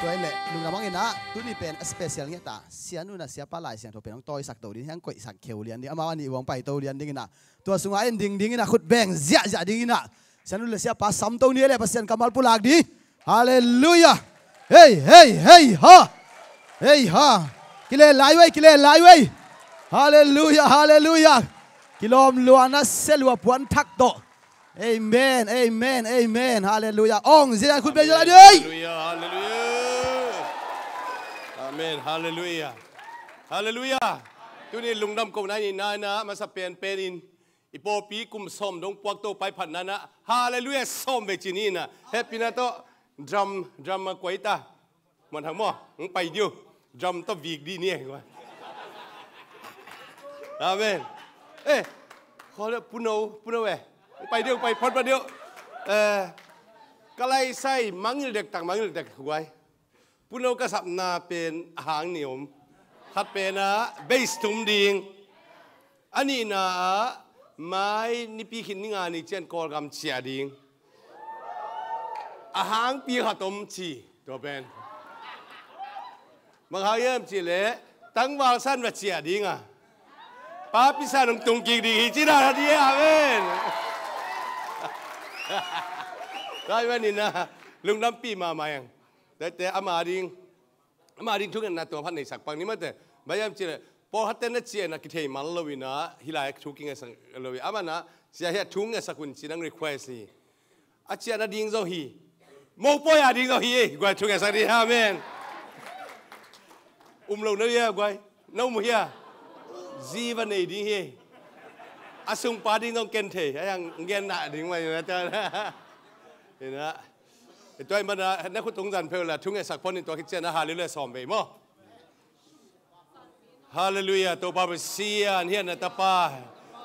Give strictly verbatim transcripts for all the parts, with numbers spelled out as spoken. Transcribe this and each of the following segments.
Tua hi leh lungdam hang in ah, tuni pen a special ngiat a, Sianu in ah Siapa Lai Siangtho pen hong tawisak to ding, hong koihsak kheu lian ding, amau a nih uh hong paito lian ding in ah, tua sungah en ding ding in ah, khut beng ziahziah ding in ah, Sianu le Siapa samto ni leh Pasian kammal pulak ding. Halleluiah. Hei, hei, hei, ha. Hei, ha. Kilen lai uh ei, kilen lai uh ei. Halleluiah, halleluiah. Kilawm lua na, sia lua puan thak tawh. Amen, amen, amen. Halleluiah. Ong zia khut beng zia lai ding. Halleluiah, halleluiah. Amen, halleluiah. Halleluiah. Tuni lungdam kohna i nei in ah, masa penpen in i pawlpi kum sawm dong puak, Topa i phatna in ah, halleluiah sawm vei ci ni in ah, hehpihna tawh drum, drum a kuai ta. Muan Thang maw, hong pai ding uh. Drum tawh vik ding ni e. Amen. Eh, khol Pu No, Pu No eh. Hong pai ding uh, pai phot pah ding uh. Eh, ka lai sai, mangngilh dektak, mangngilh dektak guai. Pu No ka sapna pen a hang nih om. Khat pen ah bass tum ding. A nihna ah mai Nipi khin ni nga ni ciang Kawlgam ciah ding. A hangpi khat om ci, tua pen. Bang hang hiam cih leh tangval san va ciah ding a, papi san hong tung kik ding hi ci dan a ding. Amen. Tua ahih manin ah lungdampih mahmah ing. Tua hi teh ama ding, ama ding thungetna tua phat neisak pang ni mate. Bang hiam cih leh pawlkhatte na ciah in ah kithei mal lo in ah, hih lai thu kingetsak lo hi. Aman ah, sia hiah thu ngetsak un ci in hong request hi. A ciahna ding zong hi. Mopawi a ding zong hi ei, guai, thu ngetsak ding. Amen. Um lo na hia guai? Na um uh hia? Zi va nei ding hi ei. A sungpa ding zong ken thei, a yang ngen na ding mah hi na. Tua ahih manin ah na khut tung zan phei un la, thu ngetsak phot in, tua khit ciang ah halleluiah sawm vei maw. Halleluiah, Topa Pasian, hih na tapa,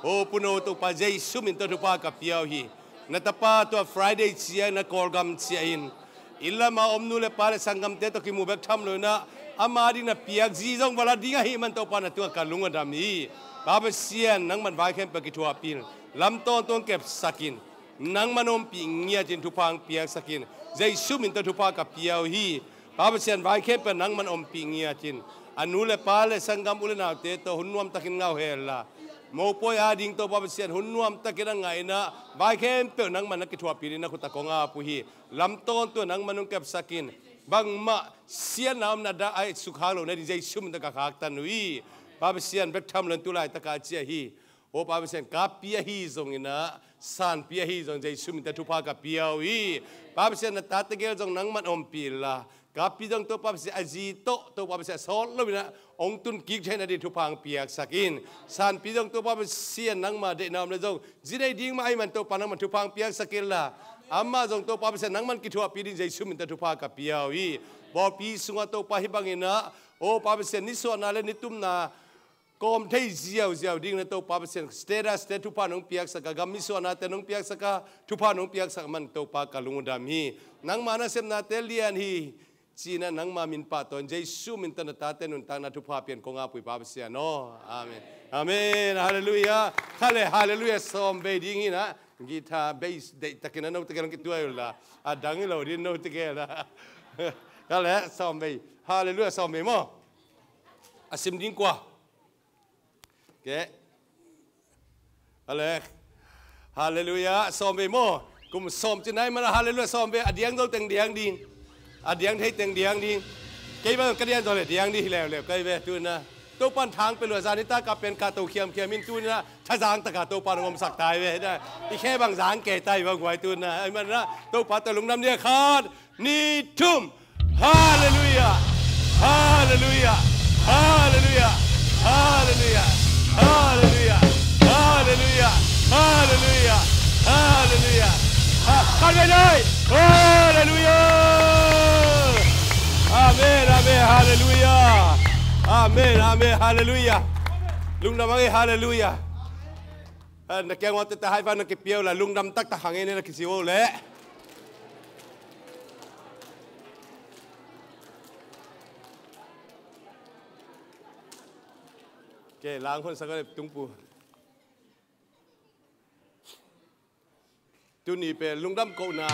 o Pu No, Topa Jesu min tawh thupha ka pia uh hi. Na tapa tua Friday ciang na Kawlgam ciah in, inn lam a om nu le pa le sanggamte tawh kimu bek tham lo in ah, ama ding na piak zi zong va la ding ahih man Topa na tungah ka lung a dam hi. Pa Pasian, nangman vai khempeuh kithuahpih in, lam tawntung kepsak in, nangman ompih ngiat in, thupha hong piaksak in. Jesu min tawh thupha ka pia uh hi. Pa Pasian, vai khempeuh nangman ompih ngiat in. A nu le pa le sanggam u le naute tawh hun nuamtakin ngah uh hen la, mopawi a ding tawh Pa Pasian hun nuamtakin a ngah in ah, vai khempeuh nangman na kithuahpih ding na khut ah kong ap uh hi. Lam tawntung nangman hong kepsak in. Bangmah siatna omna dah a sukhak loh nading Jesu min tawh ka khaktan uh hi. Pa Pasian, bek tham lo in tu laitak a ciah hi. O Pa Pasian, kappi ahi zongin ah, sanpi ahi zongin Jesu min tawh thupha ka pia uh hi. Pa Pasian, na tate gel zong nangman ompih in la, kappi zong Topa Pasian a zi tawh, Topa Pasian a sawt lo in ah hong tun kik theih nading thupha hong piaksak in. Sanpi zong Topa Pasian nangma deihna om le zong zi nei ding mah ahih man Topa nangman thupha hong piaksak in la, amah zong Topa Pasian nangman kithuahpih ding Jesu min tawh thupha ka pia uh hi. Pawlpi sungah Topa hih bangin ah, o Pa Pasian, nisuahna le nitumna kawm thei ziauziau ding na Topa Pasian, state ah state thupha nong piaksak a, gam nisuahnate nong piaksak a, thupha nong piaksak man Topa ka lung uh dam hi. Nangma nasepnate lian hi ci in ah nangma min pahtawi in, Jesu min tawh na tate nuntakna thupha pia in kong ap uh hi Pa Pasian aw. Amen. Amen. Halleluiah. Khat le halleluiah sawm vei ding hi in ah, guitar bass deihtakin ah note gel hong kituai un la, a dang hi lo ding note gel ah. Khat le sawm vei. Halleluiah sawm vei maw. A sim ding kua? Kei. Halleluiah. Halleluiah sawm vei maw. Kum sawm ci nai man ah halleluiah sawm vei. A diang zo teng diang ding. A diang thei teng diang ding. Kei bang ka diang zo le diang ding hi leuleu kei ve tu in ah. Topa'n thang pia lua, zan nitak a pen kahto khiamkhiam in tu in ah thazang tak a Topa'n hong omsak ta hi ve. I khe bang zang kei ta hi bang guai tu in ah. Ahih man in ah Topa tawh lungdam ni a, khat, nih, thum. Halleluiah. Halleluiah. Halleluiah. Halleluiah. Halleluiah. Halleluiah. Halleluiah. Halleluiah. Ha, kan ve dai. Halleluiah. Amen. Amen. Halleluiah. Amen. Amen. Halleluiah. Lungdam hang ei. Halleluiah. Ha, na kiang uah tete hai van na kipia uh la, lungdam taktak hang ei na kici uh leh. Kei lang hon sak a le tungpu. Tuni pen lungdam kohna.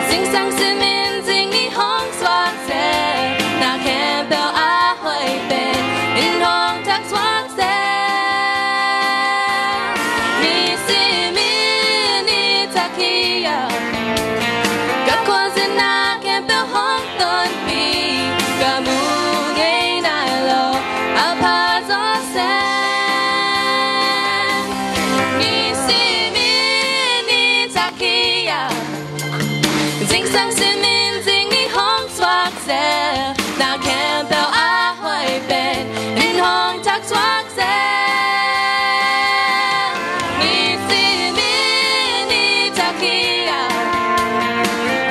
Zingsang simin zing ni hong suak zel, na khempeuh a hoih pen in hong thak suak zel. Ni simin ni thak hi a, ka khuazin na khempeuh hong tonpih, ka mu ngei nai lo a pha zaw seh. Ni simin ni thak hi a, zingsang simin zing ni hong suak zel, na khempeuh a hoih pen in hong thak suak zel. Ni simin ni thak hi a,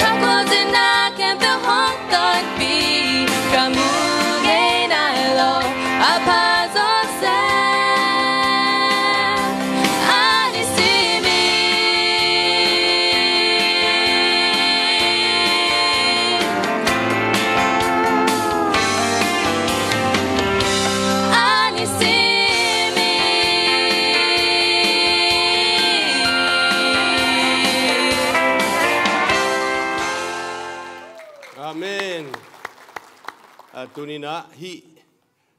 ka khuazin na khempeuh hong tonpih, ka mu ngei nai lo a pha zaw seh. A ni simin, a ni simin. Amen. A, tuni-in ah hih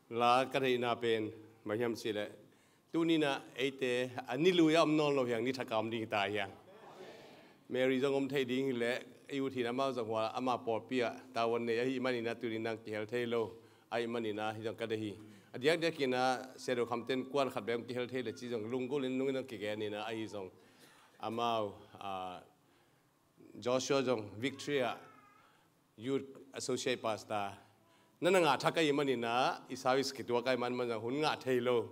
la ka deihna pen bang hiam cih leh, tuni-in ah eite a ni lui a om nawn lo hi hang, ni thak a om ding hi ta hi hang. Mary zong om thei ding hi leh, i ut hi-in amau zong hua ama pawlpi ah tavuan nei ahih manin ah tuni-in ah kihel thei lo ahih manin ah hih zong ka deih hi. A diakdiakin ah Sia Do Kham Ten Kuan khat bek kihel thei leh ci zong lunggulh in nungin zong kigen in ah, ahi zong amau, a, Joshua zong Victoria Youth Associate Pastor na na ngah thak ahih manin ah, i service kituak ahih man, man zong hun ngah thei lo,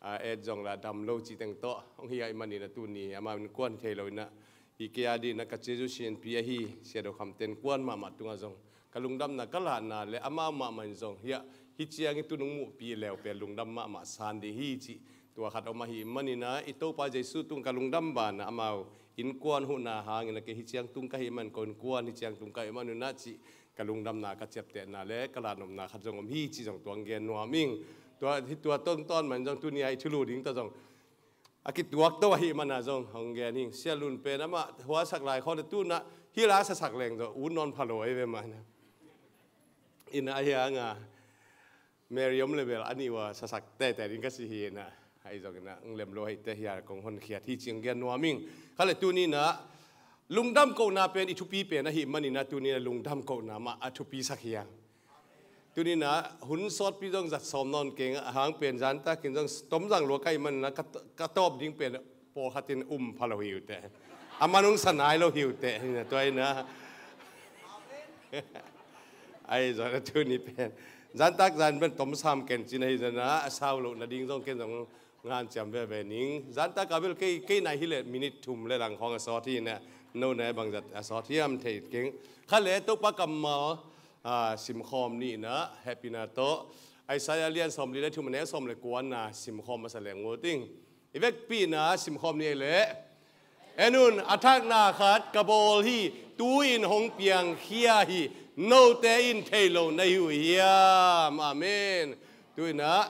a, et zong la dam lo cih teng tawh hong hi ahih manin ah tuni amau innkuan thei lo in ah, hi kei a dingin ah ka Jesu sianpi ahi Sia Do Kham Ten Kuan mahmah tungah zong ka lungdamna ka lahna le amau mahmah in zong, hiah, hih ciangin tu nong muhpih leu pen lungdam mahmah san ding hi cih tua khat om ahih manin ah, i Topa Jesu tung ka lungdam banah amau innkuan huhna hangin ah kei hih ciang tung ka hih man, ko innkuan hih ciang tung ka hih man un ah cih ka lungdamna, ka ciaptehna le ka lahnopna khat zong om hi cih zong tua hong gen nuam ing. Tua, hih tua tawh tawh man zong tuni-a i thulu ding tawh zong a kituak to ahih man ah zong hong gen ing. Sia Lun pen amah hua sak lai khawng le tu-in ah hih la sasak leng zong ut nawn pha lo ahi ve mah in ah. In ah ahi hang a Mary om leh bel a nih ua sasak teitei ding ka ci hi in ah, ahi zongin ah hong lem lo ahih teh hih a kong honkhiat hi cih hong gen nuam ing. Khat le tuni-in ah lungdam kohna pen i thupi pen ahih manin ah tuni-in ah lungdam kohna mah a thupi sak hi hang. Tuni-in ah hun sawtpi zong zat sawm nawn keng, a hang pen zantakin zong tom zang lua ka hih manin ah ka, ka tawp ding pen pawlkhat in um pha lo hi uh teh, a man hong sa nai lo hi uh teh, hi in ah tua in ah. Ahi zongin ah tuni pen zantak zan pen tom sam ken cin ahi zongin ah a sau loh nading zong ken zong nganciam veve ning. Zantak a bel kei, kei nai hi leh minute thum le lang khawng a sawt hi in ah, no nai bangzah a sawt hiam thei keng. Khat le Topa kammal, a, simkhawm ni in ah hehpihna tawh Isaiah lian sawmli le thum a neu sawm le kua-na simkhawm masa leng uh ing. I vekpi in ah simkhawm ni ei leh. En un, a thakna khat ka bawl hi, tu-in hong piangkhia hi, note in thei lo na hi uh hiam? Amen. Tu-in ah,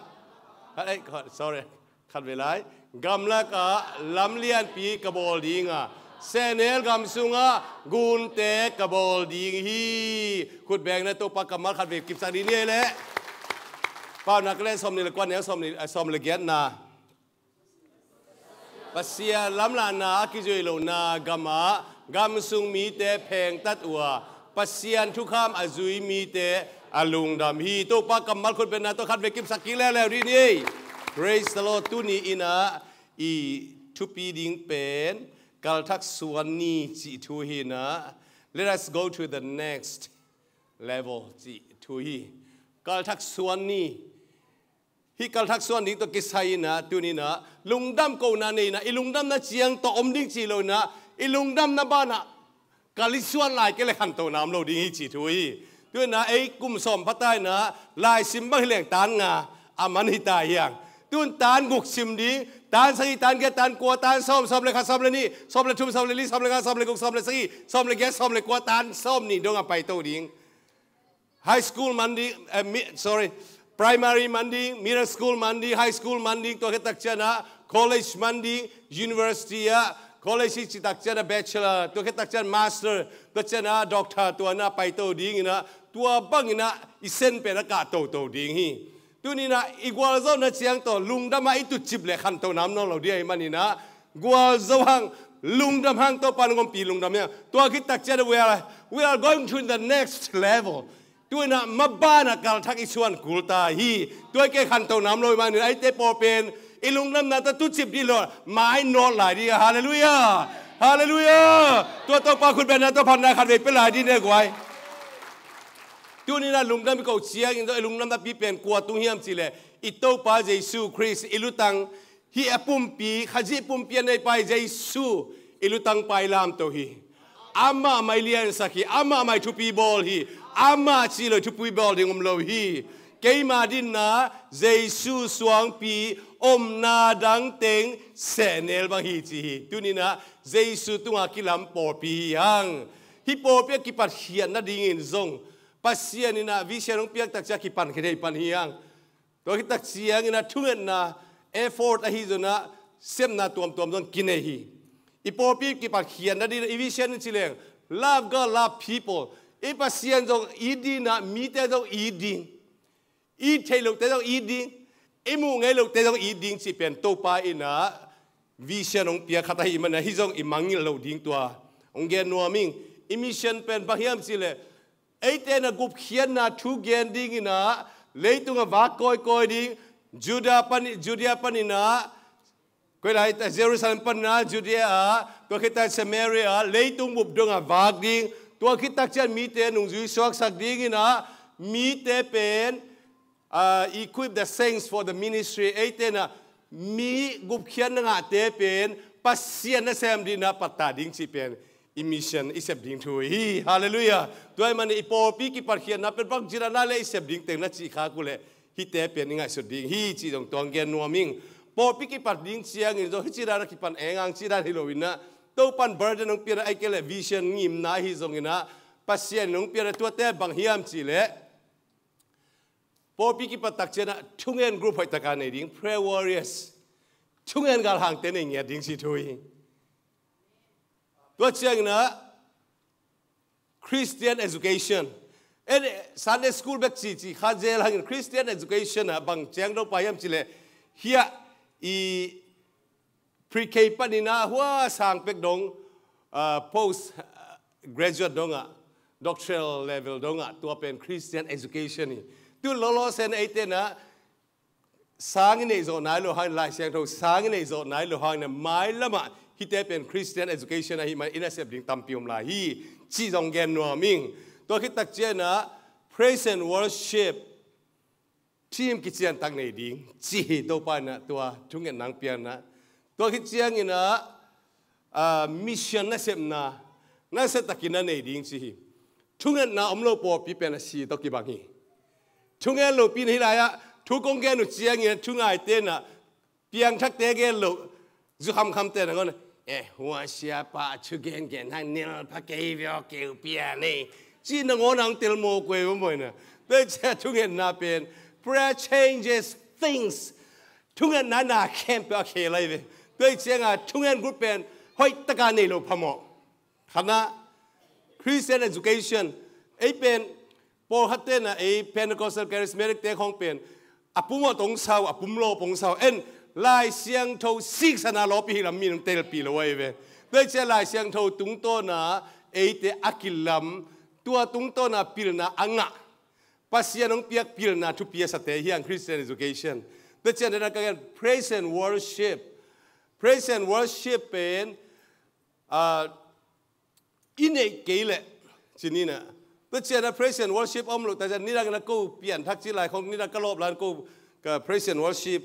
khat, ei, khat, sorry, khat vei lai. Gamlak ah lam lianpi ka bawl ding a, sehnel gam sungah gunte ka bawl ding hi. Khut beng in ah Topa kammal khat vei kipsak dih ni ei leh. Paunak lian sawmnih le kua, neu sawmnih, eh, sawm le giatna. Pasian lamlahna a kizuih lohna gamah gam sung mite phengtat uh a, Pasian thukham a zui mite a lungdam hi. Topa kammal khut bengna tawh khat vei kipsak kik leuleu dih ni ei. Praise the Lord. Tuni in ah i thupi ding pen kalthak suan ni cih thu hi in ah, let us go to the next level cih thu hi. Kalthak suan ni. Hih kalthak suan ding tawh kisai in ah, tuni in ah lungdam kohna nei in ah, i lungdamna ciang tawh om ding ci lo in ah, i lungdamna banah kal i suan lai kei leh khantohna om lo ding hi cih thu hi. Tu-in ah ei kum sawm pha ta in ah, laisim bang hi leng tan nga a man hi ta hi hang. Tu-in tan guk sim ding, tan sagih, tan giat, tan kua, tan sawm, sawm le khat, sawm le nih, sawm le thum, sawm le li, sawm le nga, sawm le guk, sawm le sagih, sawm le giat, sawm le kua, tan sawmnih dong a paito ding. High school man ding, eh, mi-, sorry, primary man ding, middle school man ding, high school man ding, tua khit tak ciang ah college man ding, university ah, College i cih tak ciangin a bachelor, tua khit tak ciangin master, tua ciangin a doctor, tua na paito dingin a, tua bangin a i sen pen a kah toto ding hi. Tuni in a i gualzawhna ciang tawh lungdam a i tutcip leh khantohna om nawn lo ding ahih manin a, gualzo hang, lungdam hang, Topa nong ompih lungdam hi hang. Tua khit tak ciangin a we are, we are going to the next level. Tu in a maban a kalthak i suan kul ta hi. Tua i kei khantohna om lo ahih manin a, eite pawl pen i lungdamna tawh tutcip ding lo, mai nawt lai ding a, halleluiah, halleluiah. Tua Topa khut bengna tawh phatna khatvei pia lai ding ne guai. Tuni in a lungdam i koh ciangin zong i lungdamna pi pen kua tung hiam cih leh, i Topa Jesu Khrist, i lutang, hih a pumpi, Khazih pumpi a neipa Jesu i lutangpa i lamto hi. Amah mah i liansak hi, amah mah i thupi bawl hi, amah cih lo i thupi bawl ding om lo hi. Keima dinna Jesu suangpi omna dang teng sehnel bang hi ci hi. Tuni in a Jesu tungah kilam pawlpi hi hang. Hih pawlpi a kipatkhiat nadingin zong Pasian in a vision hong piak tak ciang kipan khit thei pan hi hang. Tua khit tak ciangin a thungetna, effort ahi zongin a sepna tuamtuam zong kinei hi. I pawlpi kipatkhiatna ding i vision in ci leng, love God, love people. I Pasian zong it ding in a, mite zong it ding. I theih lote zong it ding. I muh ngei lote zong it ding cih pen Topa in a vision hong piak khat ahih manin a, hih zong i mangngilh loh ding tua hong gen nuam ing. I mission pen bang hiam cih leh, eite in a gupkhiatna thu gen dingin a, leitung a vak kawikawi ding, Judah pan, Judea panin a, koi lai ta Jerusalem panin a, Judea ah, tua khit tak Samaria ah, leitung bup dong a vak ding, tua khit tak ciang mite nungzui suaksak dingin a, mite pen, ah, equip the saints for the ministry. Eite in a mi gupkhiatna ngahte pen Pasian nasem dingin a pattah ding cih pen i mission i sep ding thu hi. Halleluiah. Tua ahih manin i pawlpi kipatkhiatna pen bangci dan a leh i sep ding teng na cih khak uh leh, hihte pen i ngaihsut ding hi cih zong tua hong gen nuam ing. Pawlpi kipat ding ciangin zong hih ci dan a kipan eng ang ci dan hi lo in a, Topan burden hong piak a, ahih kei leh vision ngimna ahi zongin a, Pasian in hong piak a, tuate bang hiam cih leh, pawlpi kipat tak ciang a thungen group hoih tak a nei ding, prayer warriors. Thungen galhangte nei ngiat ding cih thu hi. Tua ciangin a Christian education. En, Sunday school bek cihcih kha zel hangin Christian education ah bang ciang Topa hiam cih leh, hiah i pre-K panin a hua sang pek dong, ah, post, ah, graduate dong ah, doctoral level dong ah, tua pen Christian education hi. Tu lawlaw sen eite in a sang i neih zawh nai lo hangin, Lai Siangtho sang i neih zawh nai lo hangin a, mailam ah hihte pen Christian education ahih manin a sep ding tampi om lai hi cih zong gen nuam ing. Tua khit tak ciang a praise and worship team kician tak nei ding cih hi. Topa in a tua thungetna hong piak in a, tua khit ciangin a, ah, mission nasepna nasia takin a nei ding cih hi. Thungetna om lo pawlpi pen a si tawh kibang hi. Thungen lopi na hi lai ah, thu kong gen uh ciangin a thungaite in a, piangthakte gen loh, zu khamkhamte nangawn a, eh, hua siapa thu gengen hang nilpha kei veu keu pian ei, ci nangawn a hong tel mawk uh ei, maw, maw in a. Tua ciang thungetna pen, prayer changes things. Thungetna na khempeuh a khel ahi ve. Tua ciang a thungen group pen hoih tak a nei lo phamawh. Khatna, Christian education. Ei pen, pawlkhatte in a ei Pentecostal Charismatic te khawng pen a pum awt hong sau, a pum lawp hong sau. En, Lai Siangtho siksan a lawpih hi lam mi nong telpih lo ahi ve. Tua ciang Lai Siangtho tungtawn a eite a kilam, tua tungtawn a pilna a ngah, Pasian hong piak pilna thupi a sate hi hang Christian education. Tua ciang dena ka gen praise and worship. Praise and worship pen, ah, i neih kei leh, ci ni in a. Tua ciang a praise and worship om loh tak ciang, nidang in a ko pianthak ci lai khawng, nidang ka lawp lai in ko ka praise and worship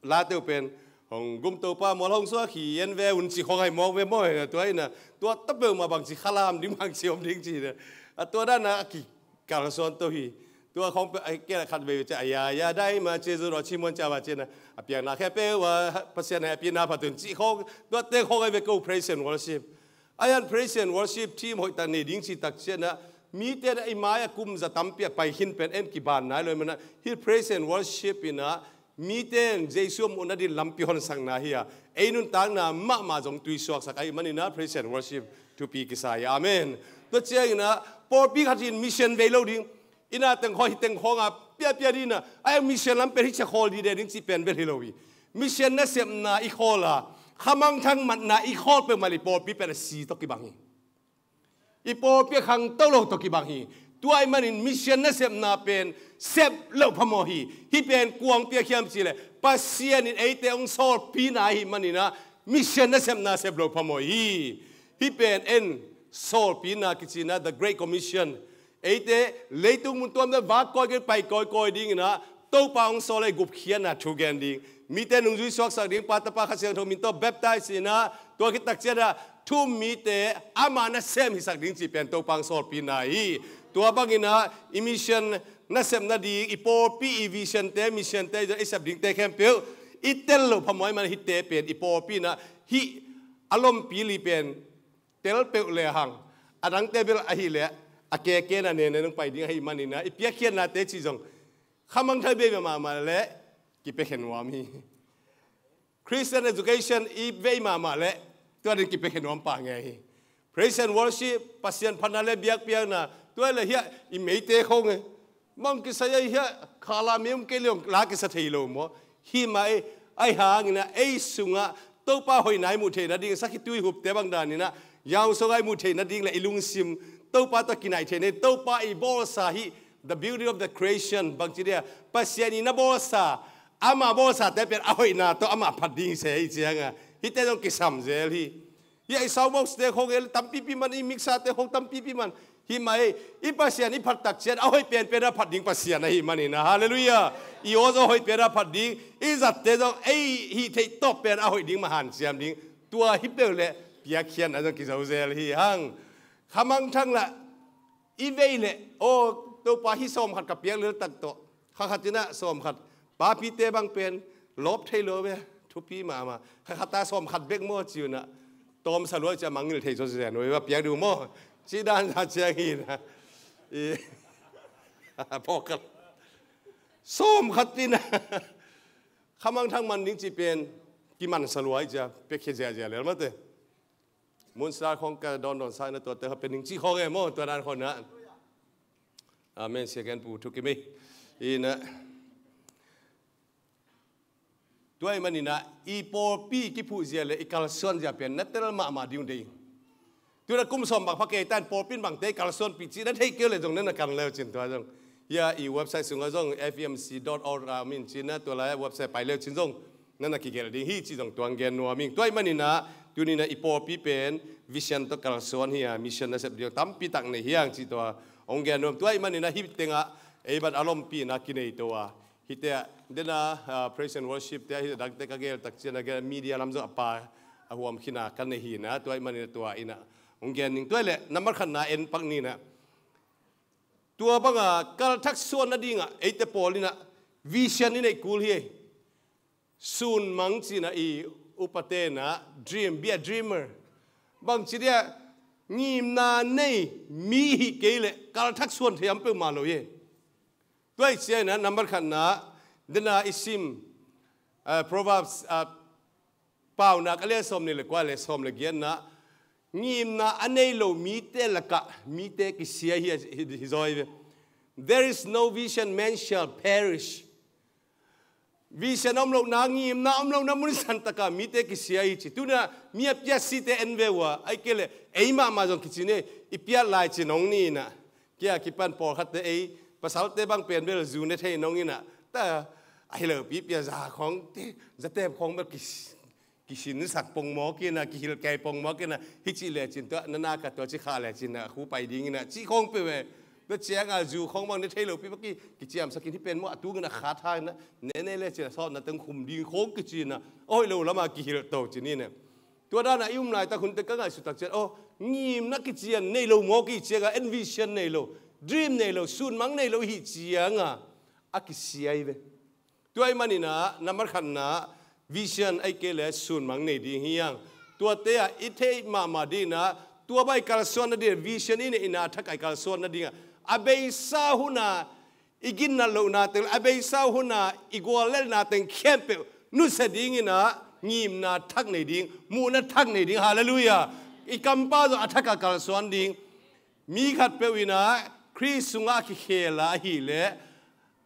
late uh pen, hong gum Topa mual hong suak hi en ve un ci khawng ahi mawk ve, maw in a. Tua in a, tua ta peuhmah bangci khalam ding, bangci om ding ci in a, a tua dan a ki kalsuan to hi. Tua khawng pen, ai, kei la khatvei cia, a ya ya dai ma cia zu ro ci muan cia ba cia na, a piang na khe pe wa, Pasian hai a pi na pha tun ci khawng, tua te khawng ai ve ko praise and worship. Ai an praise and worship team hoih tak nei ding ci tak cia na, mi te na i mai a kum za tampi a pai khin pen en kiban nai lo i man a, hi praise and worship in a, mite in Jesu a muhna ding lampi honsakna hi a, ei nuntakna mahmah zong tuisuaksak ahih manin ah praise and worship thupi kisa hi. Amen. Tua ciangin ah pawlpi khat in mission vei lo ding, inn ah teng khawng, hih teng khawng ah piapia ding in ah, a mission lam pen hih ciang khawl dide ding cih pen bel hi lo hi. Mission nasepna i khawl a, khamangthang matna i khawl peuhmah leh i pawlpi pen a si tawh kibang hi. I pawlpi a khangto lo tawh kibang hi. Tua ahih manin mission nasepna pen sep loh phamawh hi. Hih pen kuang piak hiam cih leh Pasian in eite hong sawlpina ahih manin ah mission nasepna sep loh phamawh hi. Hih pen en sawlpina kici in ah, the Great Commission. Eite leitung mun tuamtuam vak kawikawi, pai kawikawi ding in ah, Topa hong sawl a, gupkhiatna thu gen ding, mite nungzui suaksak ding, Pa, Tapa, Kha Siangtho min tawh baptize in ah, tua khit tak ciangin ah thu um mite ama nasem hisak ding cih pen Topa hong sawlpina hi. Tua bangin ah i mission nasepna ding, i pawlpi i vision te, mission te i sep dingte khempeuh i tel loh phamawh ahih manin hihte pen i pawlpi in ah hih a lompi li pen tel peuh le hang, a dangte bel ahih leh a keke na nene nong pai ding ahih manin ah, i piakkhiatnate cih zong khamangthang vei mahmah leh kipia khe nuam hi. Christian education i vei mahmah leh tua ding kipia khe nuam pah ngei hi. Praise and worship, Pasian phatna leh biakpiakna, tua leh hiah i meite khawng e, bang kisai a hiah khala mi um kei leh hong la kisa thei lo maw? Hi mah e. Ahih hangin ah ei sungah Topa hoihna i muh theihna ding, sakhituihupte bang danin ah yaung sungah i muh theihna ding leh i lungsim Topa tawh kinaih theihna, Topa i bawlsa hi, the beauty of the creation, bangci dia, Pasian in a bawlsa, ama bawlsate pen a hoihna tawh amah phat ding se hi ciangah hihte zong kisam zel hi. Hih i sound box te khawng e, tampipi man, i mixer te khawng tampipi man. Hi mah e, i Pasian i phat tak ciang a hoih penpen a phat ding Pasian ahih manin ah, halleluiah. I aw zong hoih pen a phat ding, i zatte zong ei hih theih tawp pen a hoih ding mah hanciam ding. Tua hi peuh leh piakkhiatna zong kizo zel hi hang. Khamangthang lah i vei leh, aw, Topa, hih sawm khat ka piak lel tak tawh, kha khat in ah sawm khat, papite bang pen lawp thei lo ve, thupi mahmah. Kha khat a sawm khat bek maw ci un ah, tawmsa lua ciang mangngilh thei zaw zen uh a piak ding uh maw? Cih dan za ciang hi in ah, i, pawlkhat sawm khat in ah khamangthang man ding cih pen kimansa lua hi ciang piakkhia ziahziah lel mate. Moonstar khawng ka dawndawnsa in ah tuate kha pia ning cih khawng e maw, tua dan khawng ah. Amen. Sia gen pu thu kim ei. In ah, tua ahih manin ah i pawlpi kiphuh zia leh i kalsuan zia pen na tel mahmah ding uh dei. Tu in ah kum sawm bang pha kei ta in pawlpi in bangte i kalsuanpih cih na theih kei uh leh zong na na kan le uh cin tua zong, hia i website sungah zong F E M C dot org a om in cin ah, tua lai-ah website pai le uh cin zong na na kigelh ding hi cih zong tua hong gen nuam ing. Tua ahih manin ah tuni in ah i pawlpi pen vision tawh kalsuan hi a, mission nasep ding tampi tak nei hi hang cih tua hong gen nuam. Tua ahih manin ah hih tengah ei bang a lompi in ah kinei to a, hihte ah, den a, ah, praise and worship te ah, hih dangte ka gel tak ciang a, gel media lam zong a pa a huam khin a ka nei hi in ah, tua ahih manin ah tua in ah hong gen ning. Tua hi leh number khatna en pak ni in ah, tua bang a kalthak suan nading ah eite pawl in ah vision i neih kul hi. Sunmang ci in ah i upate in ah dream, be a dreamer. Bangci dia, ngimna nei mi hih kei leh kalthak suan thei om peuhmah lo hi. Tua ahih ciangin ah number khatna, den a i sim, ah, Proverbs, ah, Paunak a lian sawm nih leh kua leh sawm leh giatna, ngimna a nei lo mite lakah mite kisia hi, hi, hi zaw hi ve. There is no vision, man shall perish. Vision om lohna, ngimna om lohna mun san takah mite kisia hi ci. Tu in ah mi a piatsite en ve uh a, ahih kei leh ei mahmah zong kici ni, i piat lai cin hong ni in ah, kia kipan pawlkhatte ei pasalte bang pen bel zu ne thei nong in ah, ta a hi lopi pia za khawng te, zatep khawng bel kis, kisinsak pongmawk in ah, kihilh kei pongmawk in ah, hih cih lecin tua na nak a tua ci khah lecin ah khu pai ding in ah, cih khawng peuh ve. Tua ciang a zu khawng bang ne thei lopi bang ki, kiciamsak in hih pen maw a tung in ah khat hang in ah, ne ne lecin ah sawtna teng khum ding khawng kici in ah, a hoih lo lam a kihilh to ci ni in ah. Tua dan a i um laitak hun teng ka ngaihsut tak ciang, aw, ngimna kician nei lo mawk i ciang a, en vision nei lo, dream nei lo, sunmang nei lo i hih ciang a, a kisia hi ve. Tua ahih manin ah, number khatna, vision ahih kei leh sunmang nei ding hi hang. Tuate ah i theih mahmah ding in ah, tua bang i kalsuan nading, vision i neihna thak a i kalsuan nading ah, a beisa hun a i ginnat lohna teng, a beisa uh huna i guallelhna teng khempeuh nusia dingin ah ngimna thak nei ding, muhna thak nei ding. Halleluiah. I kampau zong a thak a kalsuan ding. Mi khatpeuh in ah Khrist sungah a kikhel a ahih leh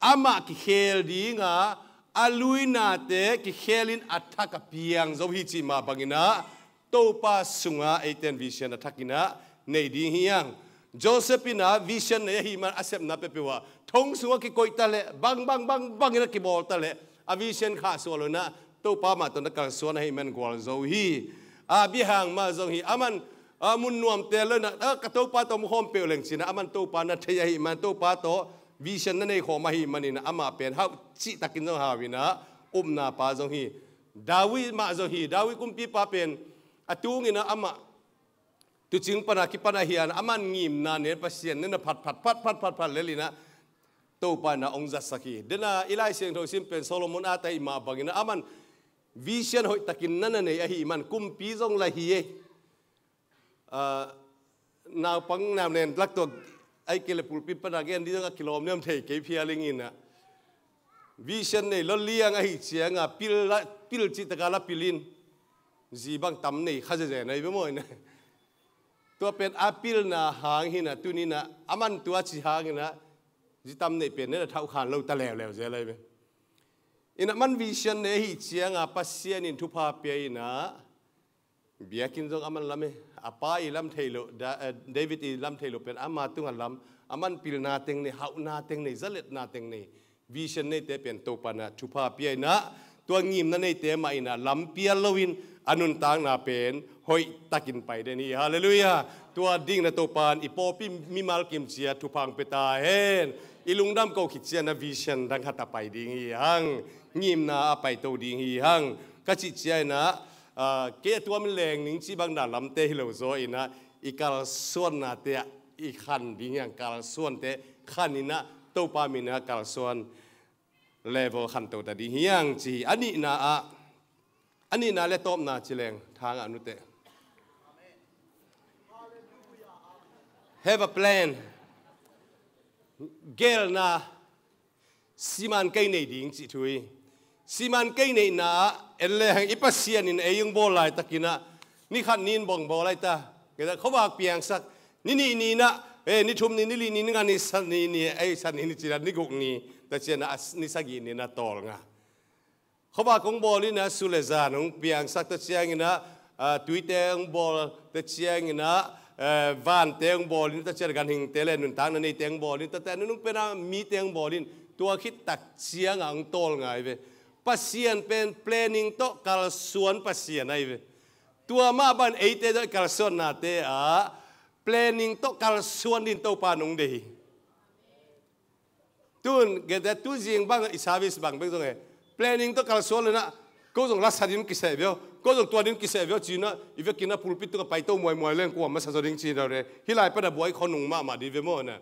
amah kikhel ding a, a luinate kikhelin a thak a piang zo hi cih mah bangin ah Topa sungah eite'n vision a thakin ah nei ding hi hang. Joseph in ah vision nei ahih man a sepna peuhpeuh ah thong sungah kikoih ta leh bang bang bang bangin a kibawl ta leh a vision khahsuah lo in ah Topa mah tawh na kalsuan ahih man gualzo hi. Abraham mah zong hi, aman a mun nuamte lo in ah, a, ka Topa tawh mu khawm peuh leng ci-in ah aman Topa na thei ahih man, Topa tawh vision na nei khawm ahih manin ah amah pen hauh cihtakin zong hau in ah upna pa zong hi. David mah zong hi, David kumpipa pen a tungin ah amah tuucing pana kipan a hi a, aman ngimna nei, Pasian nei na phat phat phat phat phat phat lel in ah Topa in ah hong zatsak hi. Dena i Lai Siangtho sim pen Solomon a ta ahih mah bangin ah aman vision hoihtakin na na nei ahih man kumpi zong la hi e. Ah, naupang nau nen lak tawh ahih kei leh pulpit pana gen ding zong a kilawm niam thei kei phial ing in ah. Vision nei lo liang ahih ciang a pil la, pil cihtak a la pil in. Zi bang tam nei kha zezen ahi ve maw in ah. Tua pen a pilna hang hi in ah, tuni in ah aman tua ci hang in ah zi tam nei pen nei na thauh khan lo ta leuleu zel ahi ve. In ah aman vision nei ahih ciang a Pasian in thupha pia in ah biakinn zong aman lam e. A pa i lam thei lo, Da-, eh, David i lam thei lo pen ama tungah lam, aman pilna teng nei, hauhna teng nei, zaletna teng nei. Vision neite pen Topa in ah thupha pia in ah tua ngimna neite mah in ah lam pial loin a nuntakna pen hoihtakin pai den hi. Halleluiah. Tua dingin ah Topa in i pawlpi mimal kim ciat thupha hong pia ta hen. I lungdam ko khit ciang ah vision dang khat a pai ding hi hang. Ngimna a paito ding hi hang. Ka cih ciang in ah, ah, kei a tuam in leng ning cih bang dan lamte hi lo zaw in ah i kalsuannate ah i khan ding hi hang, kalsuante khan in ah Topa min ah kalsuan level khanto ta ding hi hang ci hi. A nihna ah, a nihna le tawpna ci leng thang ah nute. Have a plan. Gelna siman kei nei ding cih thu hi. Siman kei neihna ah en lehang i Pasian in ei hong bawl laitakin ah ni khat ni in bang bawl lai ta. Kei ta khuavak piangsak ni nih ni in ah, eh, ni thum ni, ni li ni, ni nga ni, sa ni ni, ei sa ni ni ci-in ah ni guk ni ta ciang ah ni sagih ni in ah tawlnga. Khuavak hong bawl in ah su le zan hong piangsak ta ciangin ah, ah, tuite hong bawl ta ciangin ah, eh, vante hong bawl in ta ciang ah ganhingte le nuntakna neite hong bawl in ta ciang ah nunung pen ah mite hong bawl in tua khit tak ciang ah hong tawlnga hi ve. Pasian pen planning tawh kalsuan Pasian ahi ve. Tua mah bang eite tawh i kalsuannate ah planning tawh kalsuan ding Topa in hong deih hi. Tun, gete tu zing bang i service bang bek zong e. Planning tawh kalsuan lo in ah, ko zong lasa ding kiseh veu, ko zong tua ding kiseh veu ci-in ah, i vekin ah pulpit tungah paito muaimuai leng kua masa zaw ding ci-in ah le. Hih lai pan ah buai khua nung mahmah ding ve maw na.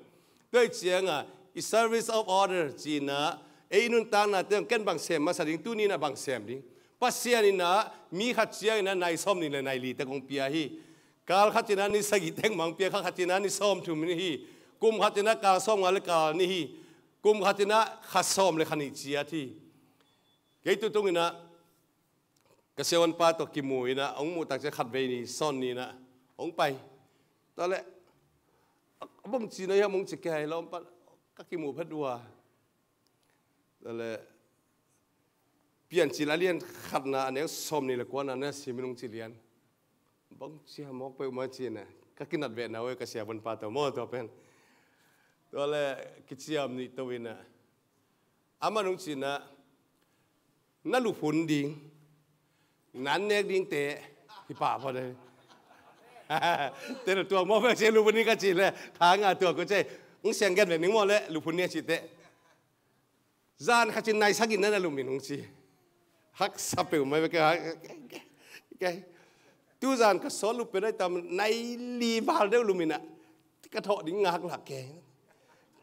Tua hi ciang ah, i service of order ci-in ah, ei nuntaknate zong ken bang sem masa ding, tuni in ah bang sem ding. Pasian in ah, mi khat ciangin ah nai sawm ni le nai li te kong pia hi. Kal khat in ah ni sagih teng mah hong pia, kha khat in ah ni sawmthum ni hi. Kum khat in ah kal sawmnga le kal nih hi. Kum khat in ah kha sawm le kha nih ciat hi. Kei tutung in ah ka siavuanpa tawh kimu in ah, hong muh tak ciang khatvei ni sawn ni in ah hong pai. Tua leh a bang ci na hiam hong ci kei hi lawmpa, ka kimu phet uh a. Tua leh Piancil a lian khatna a neu sawm ni le kuana na sim in hong ci lian. Bang cia mawk peuhmah ci-in ah ka kinat vehna uh e, ka siavuanpa tawh maw tua pen. Tua leh kiciam nih to in ah aman hong ci-in ah na luphun ding, na an nek dingte hi pah phot e. Te lo tuak mawk peuh ci, luphun ding ka cih leh thang ah tuak ko ci. Hong siang gen ve ning maw leh luphun ding a cih teh. Zan khat in nai sagih na na lum in hong ci. Haksa peuhmah ve kei. Kei tu zan ka sawt lup pen ai tam, nai li val deuh lum in ah ka thawh ding ngak lak kei.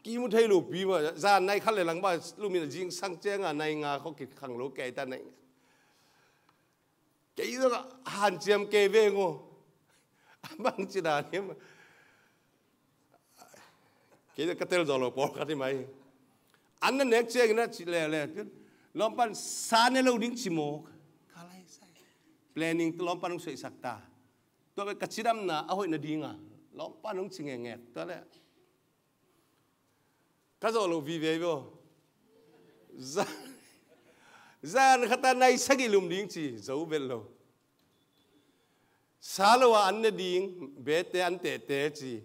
Kimu thei lo pi mah, zan nai khat le lang bang lum in ah zingsang ciang ah nai nga khawng kikhang lo kei ta nai. Kei zong hanciam kei veng aw. A bang ci dan hiam. Kei zong ka tel zaw lo pawlkhat hi mai. An na nek ciangin a ci leuleu. Lawmpan sa ne lo ding ci maw? Ka lai sai. Planning tu lawmpan hong suaisak ta. Tua bel ka cidamna a hoih nadinga lawmpan hong ci ngekngek. Tua le ka zawh loh vive vio. Zan, zan khat a nai sagih lum ding ci zo vet lo. Sa lo a an ne ding, bete an tehte ci.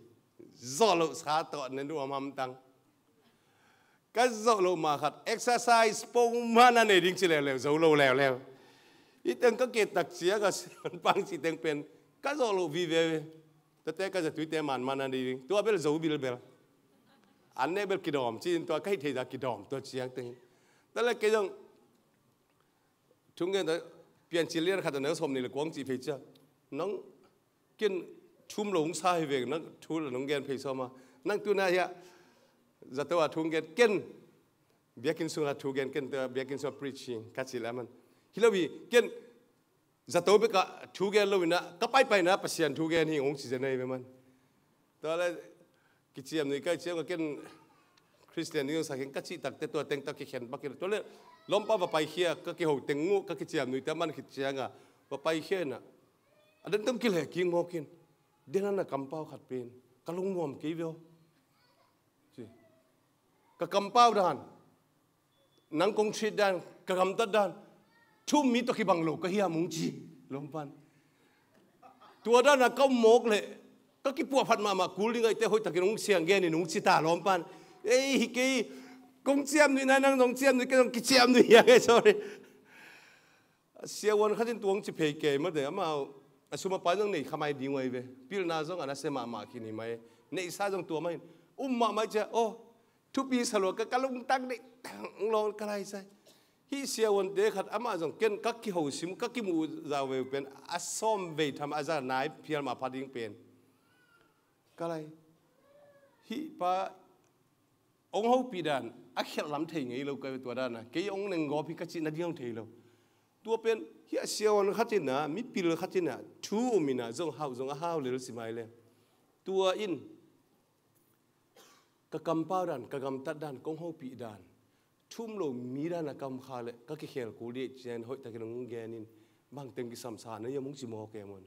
Zawh loh sa tawh an ne nuam hamtang. Ka zawh loh mah khat, exercise pongmah na nei ding ci leuleu, zo lo leuleu. Hih teng ka ke tak ciang a sian pang ci teng pen ka zawh loh vive. Tate ka zatuite manmah na nei ding. Tua bel zo bilbel. An ne bel kidawm ci in tua ka hih thei za kidawm tua ciang teng. Tua le kei zong thungen ta piancil lian khat a neu sawm nih le kuang cih phei cia. Nang ken thum lo hong sa hi veng nang thu la nong gen phei sawm a. Nang tuna hiah zato a thu hong gen ken biakinn sungah thu gen ken tua biakinn sungah preaching ka ci le man. Hi lo hi ken zato bek a thu gen lo inah ka paipaina Pasian thu gen hi hong ci zen ahi ve man. Tua le kiciam nui kai ciang ken Khristian ding sak hin ka cih takte tua teng tak kikhen bakin tua le lawmpa va paikhia ka kiho teng uh ka kiciam nuite a man khit cianga va paikhia inah a den tam kileh kik mawkin den a na kampau khat pen ka lungnuam kei veo. Ci. Ka kampau dan nang kong treat dan ka gamtat dan thum mi tawh kibang lo ka hiam hong ci lawmpan. Tua dan a ka um mawk leh ka kipuahphat mahmah kul ding ahite hoih takin hong siang genin hong ci ta lawmpan. Ei hi kei kong ciam nuih na nang zong ciam nuih kei zong kiciam nuih hiang ei sorry. Siavuan khatin tuang ci phei kei mate amau a sum a pai zong nei khamai ding uh ahi ve. Pilna zong a nasia mahmah khin hi mai. Neihsa zong tua mahin um mahmah cia aw thupi salua ka ka lungtang deih tang lawl ka lai sai. Hih siavuante khat amah zong ken ka kiho sim ka kimuh zau veu pen a sawm vei tham a za nai phial mah pha ding pen. Ka lai hih pa hong hopih dan a khialh lam thei ngei lo ka tua dan a kei hong nenggawp hi ka cih nading hong thei lo. Tua pen hih a siavuan khatin a mipil khatin a thu um inah zong hauh zong a hau lel si mai le. Tua in ka kampau dan ka gamtat dan kong hopih dan thum lo mi dan a ka um kha le ka kikhel kul dih cian hoih takin hong genin bangteng kisamsa na hiam hong ci mawk em un.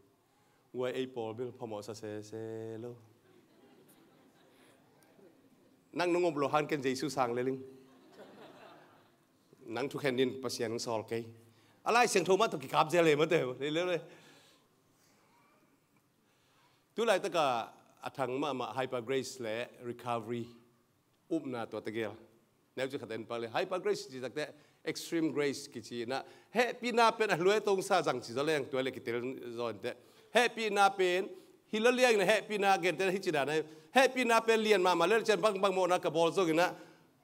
Guai ei pawl bil phamawh sa sese lo. Nang nung op lo han ken Jesu sang leling. Nang thukhen din Pasian hong sawl kei. A Lai Siangtho mah tawh kikap zel le mate le le le. Tulaitaka a thang mahmah Hyper Grace le Recovery upna tua tegel neu ci khat en pak le Hyper Grace ci takte Extreme Grace kici na hehpihna pen a hlue tongsa zang ci zaw leng tua le kitel zaw ente hehpihna pen hi lo liang na hehpihna gente hi ci dan hehpihna pen lian mahmah le cian bangbang mawhna ka bawl zongina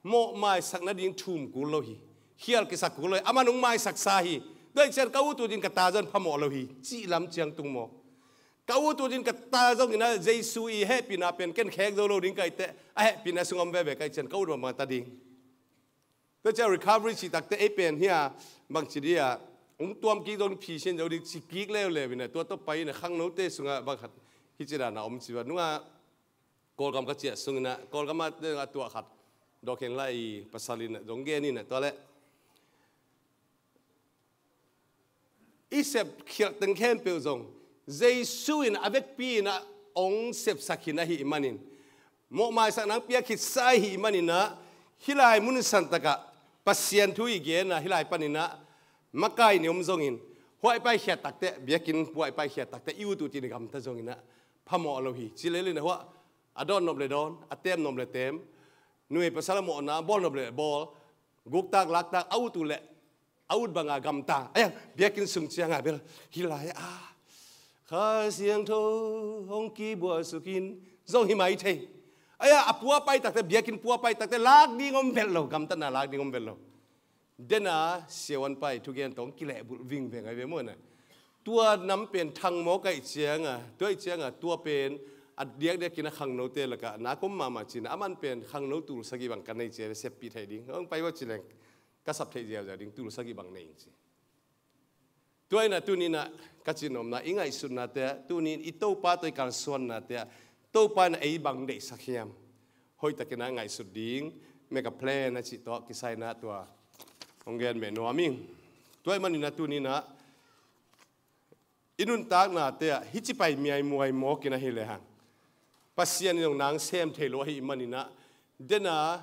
mawh maisak nading thum kul lo hi. Khial kisak kul lo hi. Aman hong maisak sa hi. Tua hi cian ka ut utin ka ta zon phamawh lo hi. Cih lam ciang tung maw? Ka ut utin ka ta zongin a Jesu i hehpihna pen ken khek zo lo ding ka ite a hehpihna sung om veve ka i cian ka ut mahmah ta ding. Tua cian recovery cih takte ei pen hi a bangci dih a hong tuam kik zong phi sin zo ding ci kik leuleu in a tua tawh pai in a khangnote sungah bang khat hi ci dan a om ci va nungah Kawlgam ka ciah sungin ah Kawlgam ah a tuah khat dawkheng lai i pasal in ah zong gen in ah tua leh i sep khialh teng khempeuh zong Jesu in a vekpi in ah hong sepsak khin ahih manin mawhmaisak nang piak khit sa ahih manin ah hih lai mun santakah Pasian thu i gen ah hih lai panin ah makai ni om zongin huaih paikhiat takte biakinn huaih paikhiat takte i ut ut in i gamta zongin ah phamawh lo hi. Ci lel in a huah a dawn nop le dawn, a tem nop le tem, nuai pasal a mawhna bawl nop le bawl, guktak laktak a ut uh leh a ut banga gamta. Aia biakinn sung cianga bel hih lai a Kha Siangtho hong kibuahsukin zong hi mai thei. Aia a pua pai takte biakinn pua pai takte lak ding om velh lo, gamtatna lak ding om velh lo. Dena siavuan pai thugen tawh kilehbulh vingveng ai ve maw na. Tua nam pen thang maw kaih cianga tua ih cianga tua pen a diakdiakin a khangnote lakah nak om mahmah cina aman pen khangno tul sagih bang ka nei cia seppih theih ding hong pai va cileng ka sap theih ziauziau ding tul sagih bang nei ing ci. Tua inah tuninah ka cinomna i ngaihsutnate ah tunin i Topa tawh i kalsuannate ah Topa inah ei bang deihsak hiam? Hoihtakinah ngaihsut ding Make a plan a cih tawh kisai-in ah tua hong gen beh nuam ing. Tua ahih manin ah tuni-in ah i nuntaknate ah hih ci pai miaimuai mawk in ahi lehang, Pasian in zong nang sem thei lo ahih manin ah, den a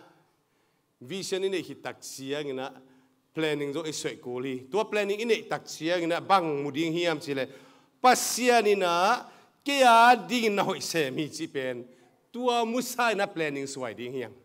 vision i neih khit tak ciangin ah planning zong i suaih kul hi. Tua planning i neih tak ciangin ah bang mu ding hiam cih leh, Pasian in ah kei a dingin na hoih sem hi cih pen tua musa in ah planning suai ding hi hang.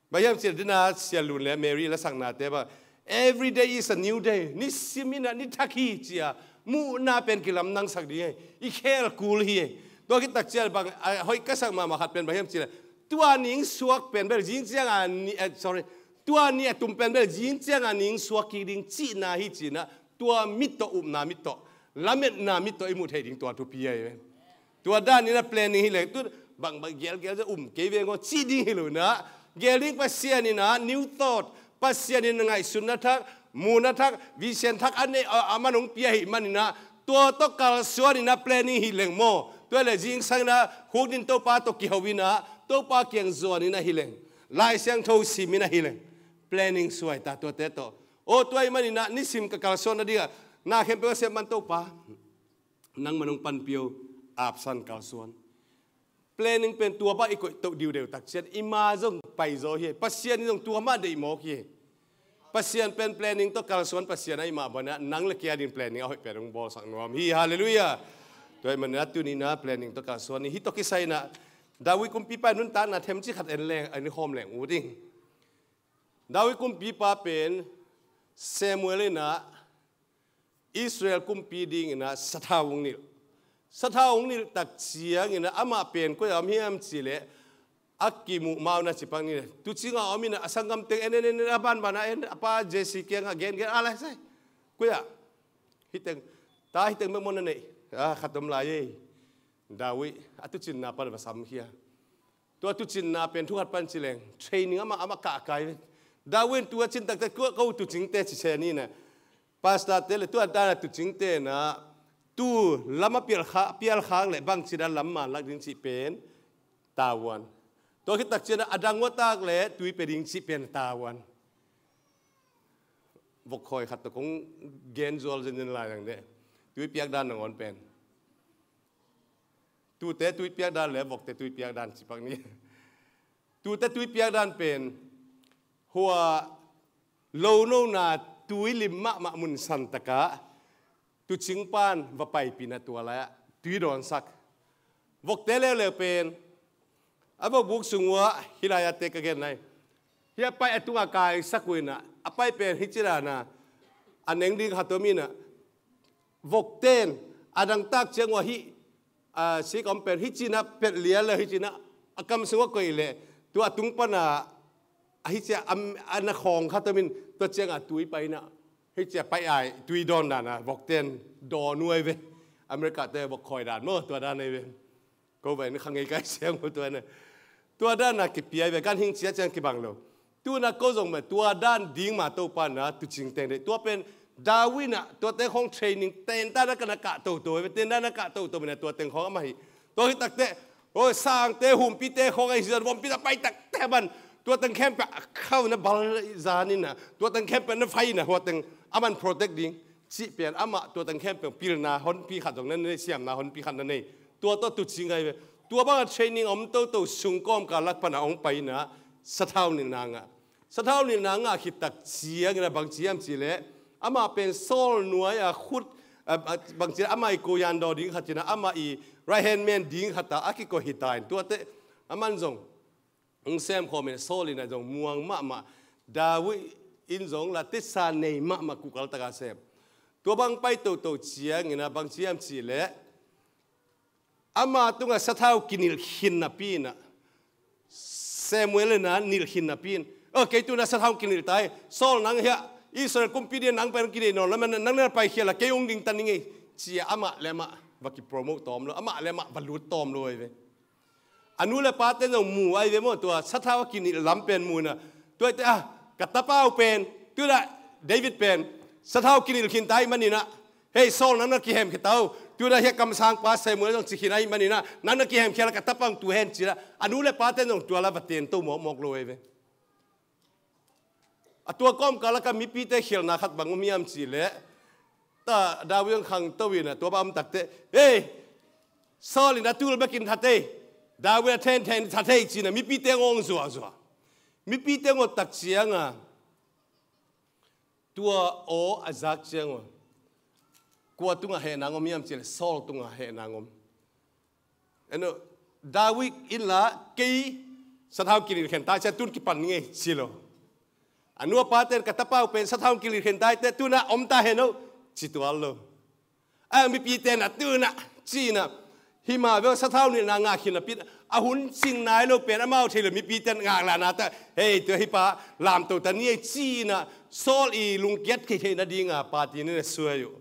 Bang hiam cih leh, den a Sia Lun le Mary lasaknate bang, "Every day is a new day." Nisim in ah ni thak hi ci-a muhna pen kilamdangsak ding hi. I khel kul hi. Tua khit tak ciang bang, a hoih ka sak mahmah khat pen bang hiam cih leh, tua ni hong suak pen bel zing ciang a ni, eh, sorry, tua ni a tum pen bel zing ciang a ni hong suak kik ding cihna hi ci-in ah, tua mit tawh, upna mit tawh, lametna mit tawh i muh theih ding tua thupi ahi ve. Tua dan in ah planning hi leh, tu bang bang gelgel zong um kei veng aw cih ding hi lo in ah, gel ding, Pasian in ah new thought, Pasian in ah ngaihsutna thak, muhna thak, vision thak a neih, a, aman hong pia ahih manin ah, tua tawh kalsuan in ah planning hi leng maw, tua leh zingsang in ah khukdin Topa tawh kiho in ah, Topa kiang zuan in ah hi leng, Lai Siangtho sim in ah hi leng, planning suai ta tuate tawh. Aw, tua ahih manin ah nisim ka kalsuan nading ah, na khempeuh a sep man Topa, nangman hong panpih o, apsan kalsuan. Planning pen tua bang i koih toh diudeu tak ciang i ma zong paizaw hi. Pasian in zong tua mah deih mawk hi. Pasian pen planning tawh kalsuan Pasian ahih mah bangin ah, nang le kei a ding planning a hoih pen hong bawlsak nuam hi. Halleluiah. Tua ahih manin ah tuni-in ah planning tawh kalsuan ni. Hih tawh kisai-in ah David kumpipa nuntakna themcik khat en leng, en khawm leng uh ding. David kumpipa pen Samuel in ah Israel kumpi dingin ah sathau hong nilh. Sathau hong nilh tak ciangin ah amah pen koi-ah om hiam cih leh, a kimuh ma-un ah ci pak ni leh, tuucing ah om in ah, a sanggamteng en en en en, a banban ah en, a pa Jesse kiangah gengen, a lai sai, koi-ah, hih teng, ta hih teng bek maw na neih? A, khat om lai ei. David a tuucinna pan va samkhia. Tua tuucinna pen thu khat pan ci leng, training amah, amah kahkai ve. David in tua cin takte, ko, ko tuucingte ci se ni na. Pastorte le tua dan a tuucingte na, tuu lam a pial kha, pial khak leh bangci dan lam man lak ding cih pen tavuan. Tua khit tak ciang a dang ua tak leh tui pia ding cih pen tavuan. Vok khawi khat tawh kong gen zual zenzen lai dang deh. Tui piak dan nangawn pen, tuute tui piak dan le vokte tui piak dan ci pak ni. Tuute tui piak dan pen, hua lonona tui lim mahmah mun san takah tuucing pan va paipih in ah tua lai-ah tui dawnsak. Vokte leuleu pen a vokbuk sung uah hih lai-ah te ka gen nai. Hih a paih a tungah kaisak uh in ah, a paih pen hih ci dan a, a neng ding khat om in ah, vokte in a dang tak ciang uah hih, a, sik a om pen hih ci-in ah pet lian le hih ci-in ah a kam sung uah koih leh, tua a tung pan a, a hih ci-a, a, a na khawng khat om in, tua ciangah tui pai in ah, hih ci-a pai ai tui dawn dan a vokte in dawn uh ai ve. America te vok khawi dan maw, tua dan ai ve. Ko va en kha ngei kai siang uh tua na. Tua dan a kipia ai ve, ganhing cia ciang kibang lo. Tu-in ah ko zong mah tua dan ding mah Topa in ah tuucing teng deih. Tua pen David in ah tua teng khawng training, ten dan a ka na kah toto ai ve, ten dan a kah toto mah in ah tua teng khawng amah hi. Tua hi takte, oi, sangte, humpite khawng a hi zan, vompi a pai takte man, tua teng khempeuh a khau na bal zan in ah, tua teng khempeuh na fai in ah, hua teng aman protect ding cih pen amah tua teng khempeuh pilna honpi khat zong na nei, siamna honpi khat na nei. Tua tawh tuucing ai ve. Tua bang a training a om toto sung kawmkal lak pan a hong pai in ah sathau nilhna ngah. Sathau nilhna ngah khit tak ciangin ah bang ci hiam cih leh, amah pen Saul nuai a khut, a, a, bang ci leh amah i ko yan daw ding khat in ah, amah i right hand man ding khat ah a kikoih hi ta in, tuate aman zong hong sem khawm in, Saul in ah zong muang mahmah, David in zong la tisa nei mahmah, kukal tak a sem. Tua bang pai toto ciangin ah bang ci hiam cih leh, ama tungah sathau kinilh khin napi in ah, Samuel in ah nilh khin napi in, "O, kei tu-in ah sathau kinilh ta hi, Saul nang hiah Israel kumpi ding nang pen kideih nawn lo, nang na paikhia la kei hong ding ta ning ei," ci-a amah le amah va kipromote tawm lo, amah le amah va lut tawm lo ai ve. A nu le pate zong mu ai ve maw, tua sathau a kinilh lam pen mu in ah, tua hi teh, "Ah, ka tapa uh pen, tu-in ah David pen sathau kinilh khin ta ahih manin ah, hei, Saul nang na kihemkhia ta uh, Tuna hia kamsangpa Samuel zong cikhin ahih maninah, nang na kihemkhia la ka tapa hong tu hen ci-inah, a nu le pate zong tua la va tento mawkmawk lo ei ve. A tua kawmkal a ka mipite khialhna khat bang om hiam cihleh, ta David hong khangto inah tua bang om takte, ei, Saul in a tul bekin that ei, David a thenthen that ei cinah mipite ngawng zuahzuah. Mipite ngawt tak cianga tua aw a zak ciang uh, kua tungah hehna ngom hiam cileh Saul tungah hehna ngom. Eno, David in la kei sathau kililkhen ta cia tun kipan ngei ci lo. A nu a paten ka tapa uh pen sathau kililkhen ta ite tuna om ta heno ci tual lo. A mipite na tuna cina hima ve sathau nilhna ngah khin a pit a hun cing nai lo pen amau thei lo mipite ngah lahna ta hei tua hipa lamto ta ni ei cina Saul i lungkiat kei theihna dinga pati ni na suai uh.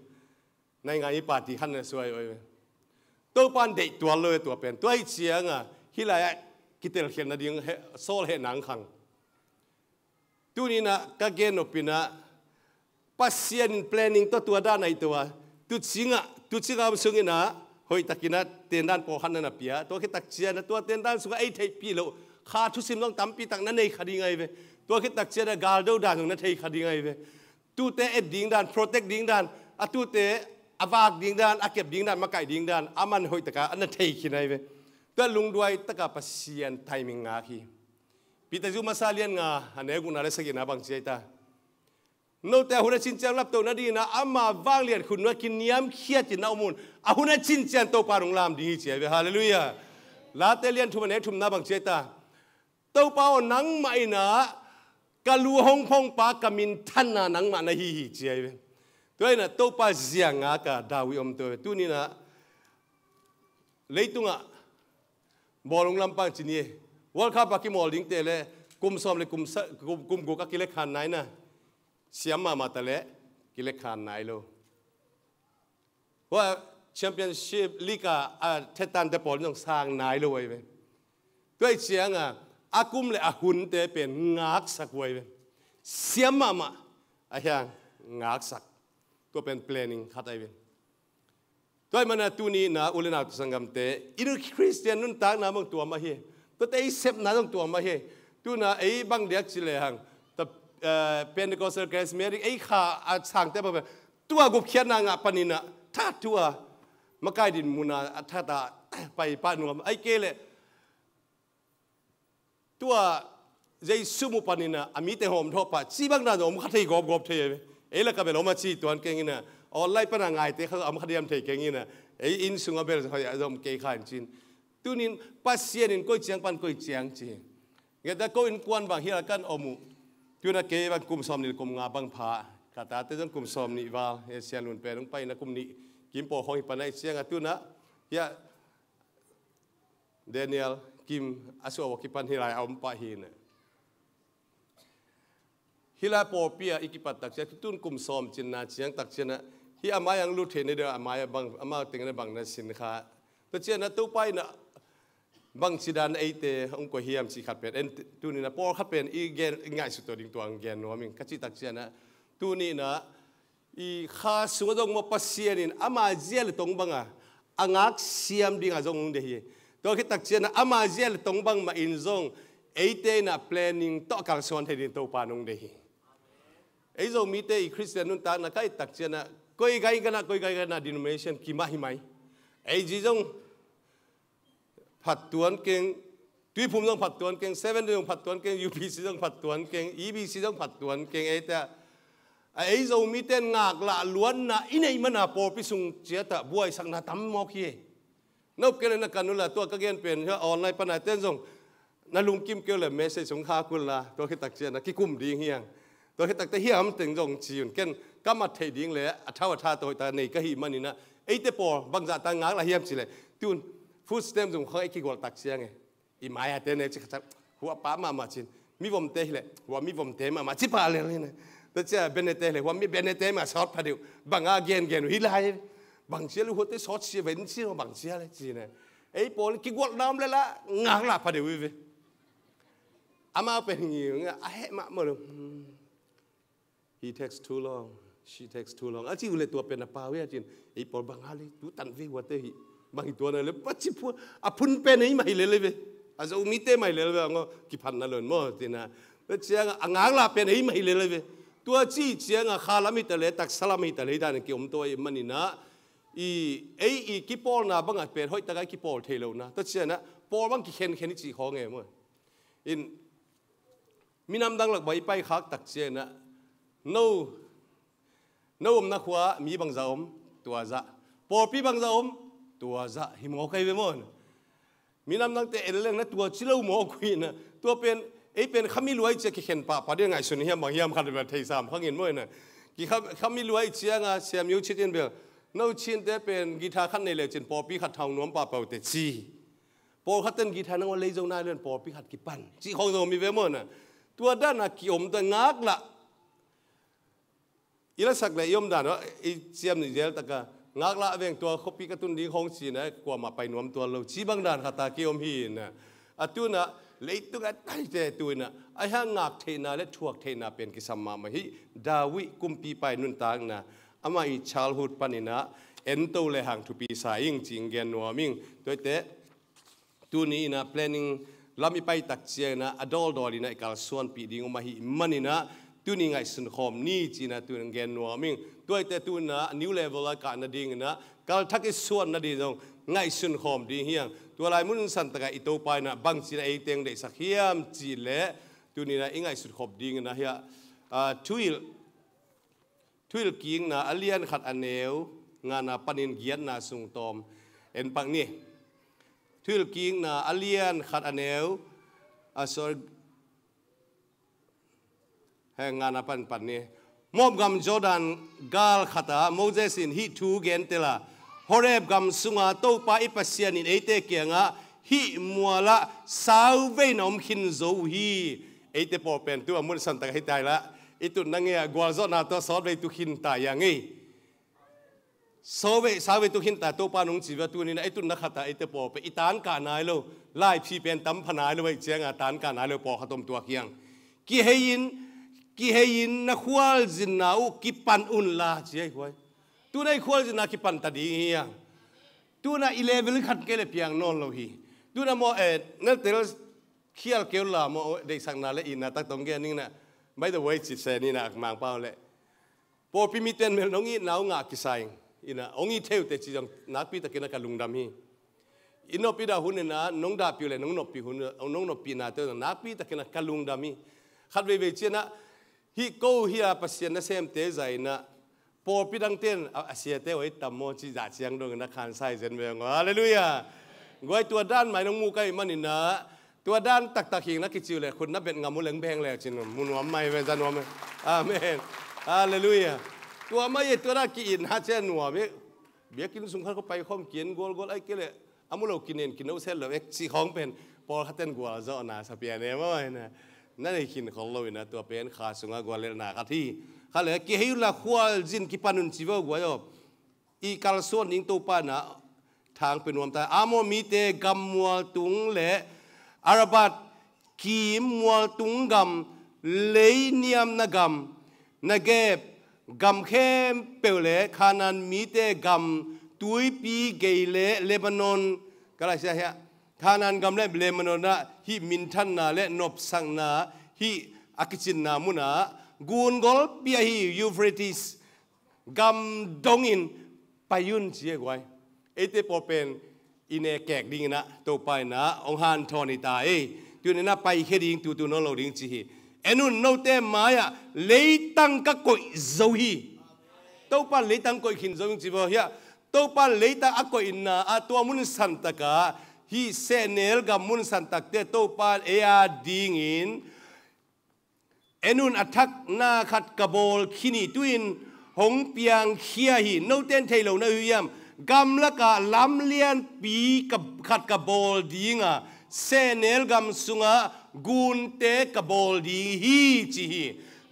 Nai ngai i pati khan na suai uh. Topan deih tual lo tua pen tua hi cianga hilai a kitelkhialhna ding Saul heh nang khang. Tuninah ka gen nopinah Pasian in planning tawh tua dan ahi tua tucingah tucingah om sunginah hoihtakinah tendan pawlkhat na na pia tua khitak cianah tua tendan sungah ei theihpih loh kha thusim zong tampi tak na nei kha ding ahi ve. Tua khitak cianah galdo dan zong na thei kha ding ahi ve. Tute et ding dan protect ding dan a tute a vak ding dan a kep ding dan makaih ding dan a man hoihtaka a na thei khin ahi ve. Tua lungduai taka Pasian timing ngak hi. Peter zu masa lian nga a neu gukna le sagihna bang ci ai ta. Note a hun a cincian laptoh nadinginah ama vanglian khun nua kiniamkhiatin na om un a hun a cincian Topa nung lam ding hi ci ai ve. Halleluiah. Late lian thum a neu thumna bang ci ai ta. Topa aw nangmah inah ka lu hong phongpa ka minthanna nangmah na hi hi ci ai ve. Tua inah Topa zianga ka David om tua ve. Tuninah leitungah bawlung lampang ci ni. World Cup a kimawl dingte le kum sawm le kum, kum, kum guk a kilekhan naina siam mahmah ta le kilekhan nai lo. Hua championship league a a thetante pawl zong sang nai lo ai ve. Tua i cianga a kum le a hunte pen ngaksak huai ve. Siam mahmah a hiang ngaksak. Tua pen planning khat ai ve. Tua i mana tuni na u le nau tu sanggamte i nu Khristian nuntakna bang tuam ahi. Tuate i sepna zong tuam ahi. Tuna ei bang diak ci lehang ta Pentecostal Charismatic ei kha a sangte bang tua gupkhiatna ngah paninah that thua makai din muna a thata pai pah nuam ai kei leh tua Jesu mu paninah a mite hawm thawh pah ci bang dan om kha thei gawpgawp thei ei la ka bel om a ci tuan kengina online pana ngaite kha om kha diam thei kengina ei inn sunga bel zom kei kha in cin. Tunin Pasian in koi ciang pan koi ciang ci ngeta ko innkuan bang hial kan om uh. Tuna kei bang kum sawm nih kum nga bang pha ka tate zong kum sawm nih val he sian lun pen hong paina kum nih kim paw khawng hi pana i cianga tuna hia Daniel kim a suah a kipan hi lai a om pah hi na. Hi lai pawlpi ah i kipat tak ciang tun kum sawm cinna ciang tak ciangah hi a mai ang lut thei na deuh a mai a bang amau tengna bang na sin kha. Tua ciangah Topa in bang cidan eite hong koi hiam ci khat pen en tunin a pawlkhat pen i gen i ngaihsut tua ding tua ang gen nuam ing ka cih tak ciangah tuninah i kha sungah zong maw Pasian in ama zia le tong banga a ngak siam dinga zong hong deih hi. Tua khit tak ciangah ama zia le tong bang mah in zong eite inah planning tawh a kalsuan thei ding Topa nong deih hi. Ei Zomite i Khristian nuntakna ka it tak ciangah koi gai ganah koi gai ganah denomination kimah hi mai. Ei zi zong phat tuan keng, Tuiphum zong phat tuan keng, Seven Day zong phat tuan keng, U P C zong phat tuan keng, E B C zong phat tuan keng eite ah a ei Zomite ngaklah luanna i neih mana pawlpi sung ciatah buaisakna tam mawk hi. Na up kei le na kan uhla tua ka gen pen online pana ten zong na lungkim kei le message sung kha kul la tua khit tak ciangah kikum ding hiang. Tua khit takte hiam teng zong ci un ken ka mat theih ding le a thau a tha tawh ta nei ka hih maninah eite pawl bangzah ta ngaklah hiam cileh tun food stamp zong khang ei kigual tak ciang e. I mai-a te ne ci khat huah pah mahmah cin. Mivomte hileh huah mivomte mahmah ci pah lel hi ne. Tua cia benete hileh huah mi benete mah sawt phadeuh banga gengen uh hi lai. Bang cia lu huate sawt sia ven cia bang cia le ci ne. Ei pawl kigualh nam le la ngaklah phadeuh hi ve. Amau pen ngiu nga a heh mahmah lo. He takes too long. She takes too long. A ci uh leh tua pen a pau hi a cin. Ei pawl bang hal hi, tu tan ve uh a te hi. Bang hi tua na leh, pa ci phua. A phun pen ei mah hi lel ve. A Zomite mah hi lel ve, a ngaw kiphatna lo in maw, ci na. Tua ciang a ngaklah pen ei mah hi lel ve. Tua ci ciang a kha lam hi ta leh, taksa lam hi ta leh, dan kiom tua ahih manin ah, i, ei i kipawlna bang a pen hoih tak a i kipawl thei lo na. Tua ciang a pawl bang kikhenkhen i cih khawng e maw. In, minam dang lak bang i paikhak tak ciang a, no, no omna khua mi bangzah om, tua zah. Pawlpi bangzah om, tua zah hi mawk hi ve maw. Minam dangte en leng na tua ci lo mawk uh hi na. Tua pen, ei pen khami luai cia kikhen pahpah ding ngaihsun hiam bang hiam khat bel thei sam khang in maw hi na. Ki kham, khami luai ciang a Siam Yu Cit in bel, no Cinte pen guitar khat nei le cin pawlpi khat hau nuam pahpah uh te ci. Pawlkhat ten guitar nang ua lei zo nai lo in pawlpi khat kipan cih khawng zong om hi ve maw na. Tua dan a kiom ta ngaklah. I lasak le i om dan a, i ciam nih zel tak a, ngaklah veng tua khuapi ka tun ding khawng ci na, kuamah pai nuam tuan lo, ci bang dan khat a kiom hi na. A tu na, leitung a taite tu in a, a hang ngak theihna le thuak theihna pen kisam mahmah hi. David kumpipa i nuntakna, amah i childhood panin ah, en to le hang thupi sa ing ci-in gen nuam ing. Tuate, tuni in ah planning lam i pai tak ciang in ah a dawldawl in ah i kalsuanpih ding om ahih manin ah tuni ngaihsun khawm ni ci-in ah tuni gen nuam ing. Tuate tuni in ah new level a kah nading in ah kalthak i suan nading zong ngaihsun khawm ding hi hang. Tua lai mun san tak ah i Topa in ah bang ci-in ah ei teng deihsak hiam cih leh tuni in ah i ngaihsun khawm ding in ah hi a, ah, Thuhilh Thuhilhkikna a lian khat a neu ngana panin giatna sung tawm en pak ni. Thuhilhkikna a lian khat a neu, ah, sorry, he ngana pan pan ni. Moab gam Jordan gal khat ah Moses in hih thu gen tel a, Horeb gam sunga Topa i Pasian in eite kiangah hih mualah sauvei na om khin zo uh hi. Eite pawl pen tu a mun san tak hi ta hi la, i tutna ngei ah gualzawhna tawh sawtvei tu khin ta hi a ngei. Sauvei, sauvei tu khin ta, Topa nong ci ve, tuni in ah i tutna khat ah eite pawl pen i tankah nai lo, laiphi pen tam pha nai lo, ei ciang a tankah nai lo pawlkhat om tuak hi hang. Kihei in, kihei in na khualzinna uh kipan un la ci hi kuai. Tuni in ah i khualzinna kipan ta ding hi hang. Tuni in ah i level khat kei le piang nawn lo hi. Tuni in ah maw, eh, na tel khial kei un la maw, deihsakna le itna tak tawh gen ning in ah. By the way, ci se ni in ah Mangpau le pawlpi mite in mel nong itna uh ngah kisa ing. In ah hong it thei uh teh ci zong nakpi takin ah ka lungdam hi. I nop i dah hun in ah nong dahpih uh le nong noppih hun, nong noppihnate uh zong nakpi takin ah ka lungdam hi. Khat veivei ciang ah hih ko hi a Pasian nasemte zah in ah pawlpi dangte in a, a siate uh a it tam maw cih zah ciang dong in ah khansai zen ve hang. Halleluiah. Guai, tua dan mah in hong mu ka hih manin ah, tua dan taktak hi ing na kici uh leh khut na bet ngam uh leng beng le cin mu nuam mai ve, za nuam mai. Amen. Halleluiah. Tua mah hi, tua dan ki-itna ciang nuam hi. Biakinn sung khat khawng pai khawm ki-en gualgual ahih kei leh a mu lo kinen kino set lo ek cih khawng pen pawlkhat ten gualzawhna sa pian e maw hi na. Na nei khin khol lo in ah tua pen kha sungah guallelhna khat hi. Khat le kihei un la khualzin kipan un ci vo guai aw. I kalsuan ding Topa in ah thang pia nuam ta. Amor mite gam mualtung le Arabat kim mualtung gam, leiniamna gam, Negeb gam khempeuh le Kanaan mite gam, tuipi gei le Lebanon, ka lai sia hiah, Kanaan gam le Lebanon ah hih minthanna le nopsakna, hih a kicinna munah gun golpi ahi Euphrates gam dongin pai un ci e guai. Eite pawl pen i ne kek dingin ah Topa in ah hong hanthawn hi ta ei. Tuni in ah paikhia ding, tutu nawn lo ding ci hi. En un, note mai-ah leitang ka koih zo hi. Topa in leitang koih khin zo hi ci vo hiah. Topa in leitang a koihna ah tua mun santak ah hih sehnel gam mun santakte Topa in ei a dingin, en un, a thak na khat ka bawl khin hi, tu-in hong piangkhia hi. Note in thei lo na uh hiam? Gamlakah lam lianpi ka, khat ka bawl ding a, sehnel gam sungah gunte ka bawl ding hi ci hi.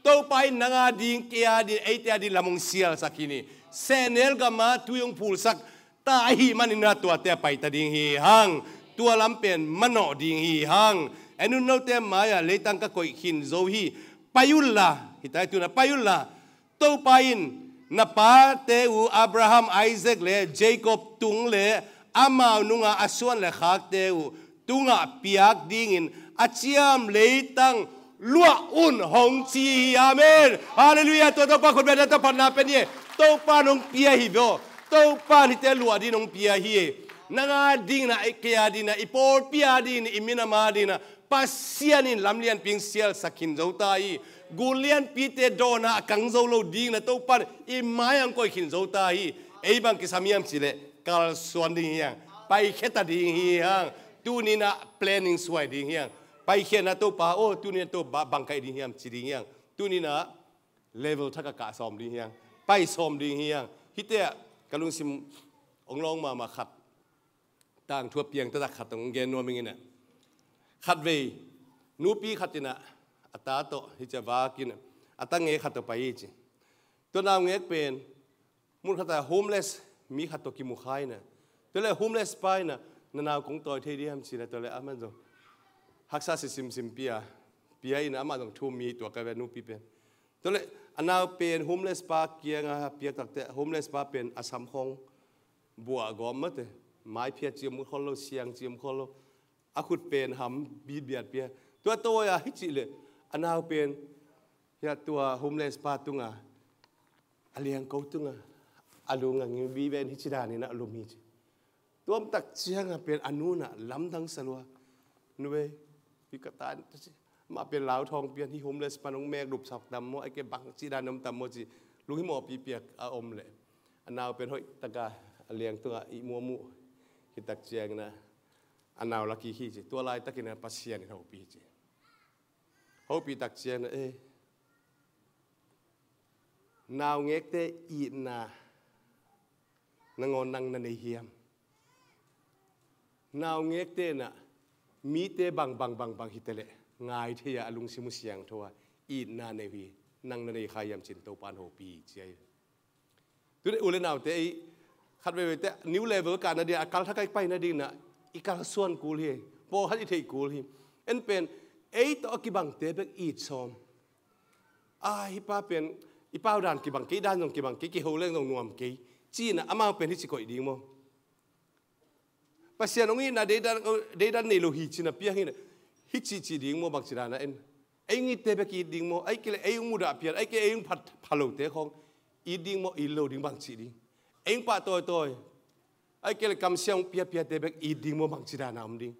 Topa in nang a ding, kei a ding, eite a ding lam hong sialsak khin hi. Sehnel gamah tui hong phulsak ta ahih manin ah tuate a pai ta ding hi hang. Tua lam pen manawh ding hi hang. En un, note mai-ah leitang ka koih khin zo hi. Pai un la, hi ta hi, tu-in ah pai un la. Topa in Na pate uh Abraham, Isaac le Jacob tung le amau nunga a suan le khakte uh tungah piak dingin a ciam leitang luah un hong ci hi. Amen. Halleluiah. Tua Topa khut beng na, Topa na pen hi. Topa nong pia hi vo. Topa hite luah ding nong pia hi. Nang a dingin ah, kei a dingin ah, i pawlpi a dingin ah, i minam a dingin ah Pasian in lamlianpi sialsak khin zo ta hi. Gul lianpite dawnah a kang zo lo dingin ah Topa in i mai ah hong koih khin zo ta hi. Ei bang kisam hiam cih leh kalsuan ding hi hang. Paikhia ta ding hi hang. Tuni-in ah planning suai ding hi hang. Paikhia-in ah Topa aw, tuni-in ah Topa bang ka hi ding hiam ci ding hi hang. Tuni-in ah level thak ah kah sawm ding hi hang. Pai sawm ding hi hang. Hihte ah ka lungsim hong lawng mahmah khat, tangthu a piang taktak khat hong gen nuam ing in ah. Khatvei nupi khat in ah a ta tawh hih ci-a vak in ah, a ta ngek khat tawh pai hi ci. Tua naungek pen mun khat ah homeless mi khat tawh kimu kha in ah, tua leh homeless pa in ah, "Na nau kong tawi thei ding hiam?" ci-in ah, tua leh aman zong haksa sisimsim pia, pia in ah, amah zong thu-um mi hi, tua ka ve nupi pen. Tua leh a nau pen homeless pa kiangah piak takteh, homeless pa pen a sam khawng buah gawm mate, mai phiat ciam khol lo, siang ciam khol lo, a khut pen ham bitbiat pia. Tua tawi a hih cih leh a nau pen hih tua homeless pa tungah, a liangko tungah a lung a ngiu vive in hih ci danin ah lum hi ci. Tua tak ciangah pen a nu in ah lamdang sa lua, "Nu ei, hih ka ta in," ci. Amah pen lauthawng pian, "Hih homeless pan hong mek lupsak tam maw, ahih kei leh bang ci dan om tam maw?" ci. Lunghimawhpi piak a om leh a nau pen hoih takin a liang tungah ihmu a muh hi tak ciangin ah a nau la kik hi ci. Tua laitakin ah Pasian in hopih hi ci. Hopih tak ciangin ah, eh, naungekte itna nangawn nang na nei hiam? Naungekte in ah mite bang bang bang bang hi ta leh ngai thei a, a lungsim uh siangtho a, itna nei uh hi. Nang na nei kha hiam ci-in Topa in hopih hi ci hi. Tuni u le naute, ei khat veivei teh new level kah nading, a kal thak ah i pai nading in ah i kalsuan kul hi. Pawlkhat i theih kul hi. En pen ei tawh a kibangte bek it sawm. "Ah, hih pa pen i pau dan kibang kei, i dan zong kibang kei, kiho leng zong nuam kei," ci-in ah amau pen hih ci koih ding maw? Pasian hong itna deidan, deidan nei lo hi ci-in ah piang hi in ah, hih ci ci ding maw, bang ci dan ah en? Ei hong itte bek it ding maw? Ahih kei leh ei hong mudah pian, ahih kei leh ei hong phat, pha lote khawng it ding maw, it lo ding, bang ci ding? Ei hong pah tawitawi, ahih kei leh kamsiam hong piapiate bek it ding maw, bang ci dan a om ding?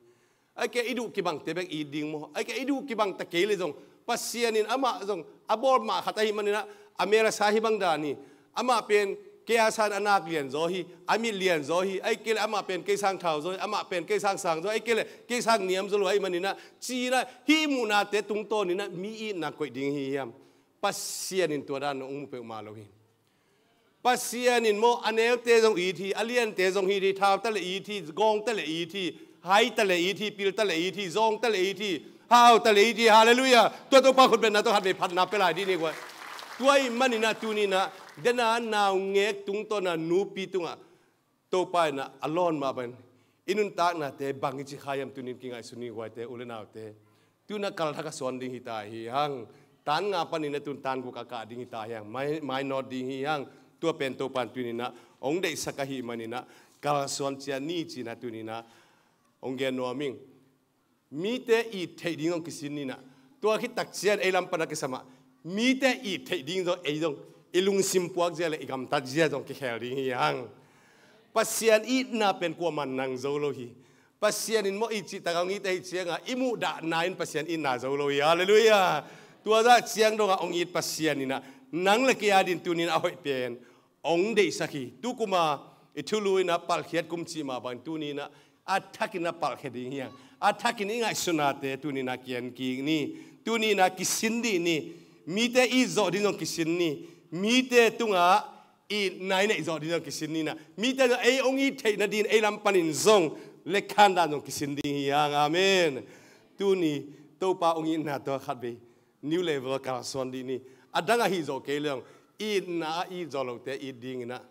Ahih kei leh i duh kibangte bek it ding maw? Ahih kei leh i duh kibang ta kei leh zong Pasian in amah zong a bawl mah khat ahih manin ah, a mel a sa hi bang dan hi. Amah pen kei a sang a nak lian zaw hi, a mit lian zaw hi, ahih kei leh amah pen kei sang thau zaw hi, amah pen kei sang sang zaw hi, ahih kei leh kei sang niam zaw lo ahih manin ah, ci-in ah hih muhnate tungtawnin ah mi itna koih ding hi hiam? Pasian in tua dan hong mu peuhmah lo hi. Pasian in maw, a neute zong it hi, a liante zong it hi, thau ta leh it hi, gawng ta leh it hi, hai ta leh it hi, pil ta leh it hi, zawng ta leh it hi, hau ta leh it hi. Halleluiah. Tua Topa khut bengna tawh khatvei phatna pia lai dih ni guai. Tua ahih manin ah tuni-in ah, dena naungek tungtawn a nupi tungah Topa in ah a lawn mah bangin i nuntaknate bang i ci kha hiam, tuni-in kingaihsun ni guaite, u le naute. Tu-in ah kal thak ah suan ding hi ta hi hang. Tan nga panin ah tu-in tan guk ah kah ding hi ta hi hang. Mai, mainawt ding hi hang. Tua pen Topa in tuni-in ah hong deihsak ahih manin ah kalsuan ciat ni ci-in ah tuni-in ah hong gen nuam ing. Mite it theih ding zong kisin ni in ah. Tua khit tak ciang ei lam pan a kisam ah mite it theih ding zong ei zong i lungsim puak zia le i gamtat zia zong kikhel ding hi hang. Pasian itna pen kuamah in nang zo lo hi. Pasian in maw, i cih tak a hong it ahih ciangin i muhdahna in Pasian itna zo lo hi. Halleluiah. Tua zah ciang dongah hong it Pasian in ah nang le kei a dingin tuni-in a hoih pen hong deihsak hi. Tukum a i thulu in ah palkhiat kum cih mah bangin tuni-in ah a thakin ah palkhia ding hi hang. A thakin i ngaihsutnate tuni-in ah kian kik ni. Tuni-in ah kisin dih ni. Mite it zawh ding zong kisin ni. Mite tungah itna i neih zawh ding zong kisin ni in ah, mite zong ei hong it theih nadingin ei lam panin zong lekkhan dan zong kisin ding hi hang. Amen. Tuni Topa hong itna tawh khatvei new level kalsuan dih ni. A dang ahih zawh kei leng itna a it zawh lote it dingin ah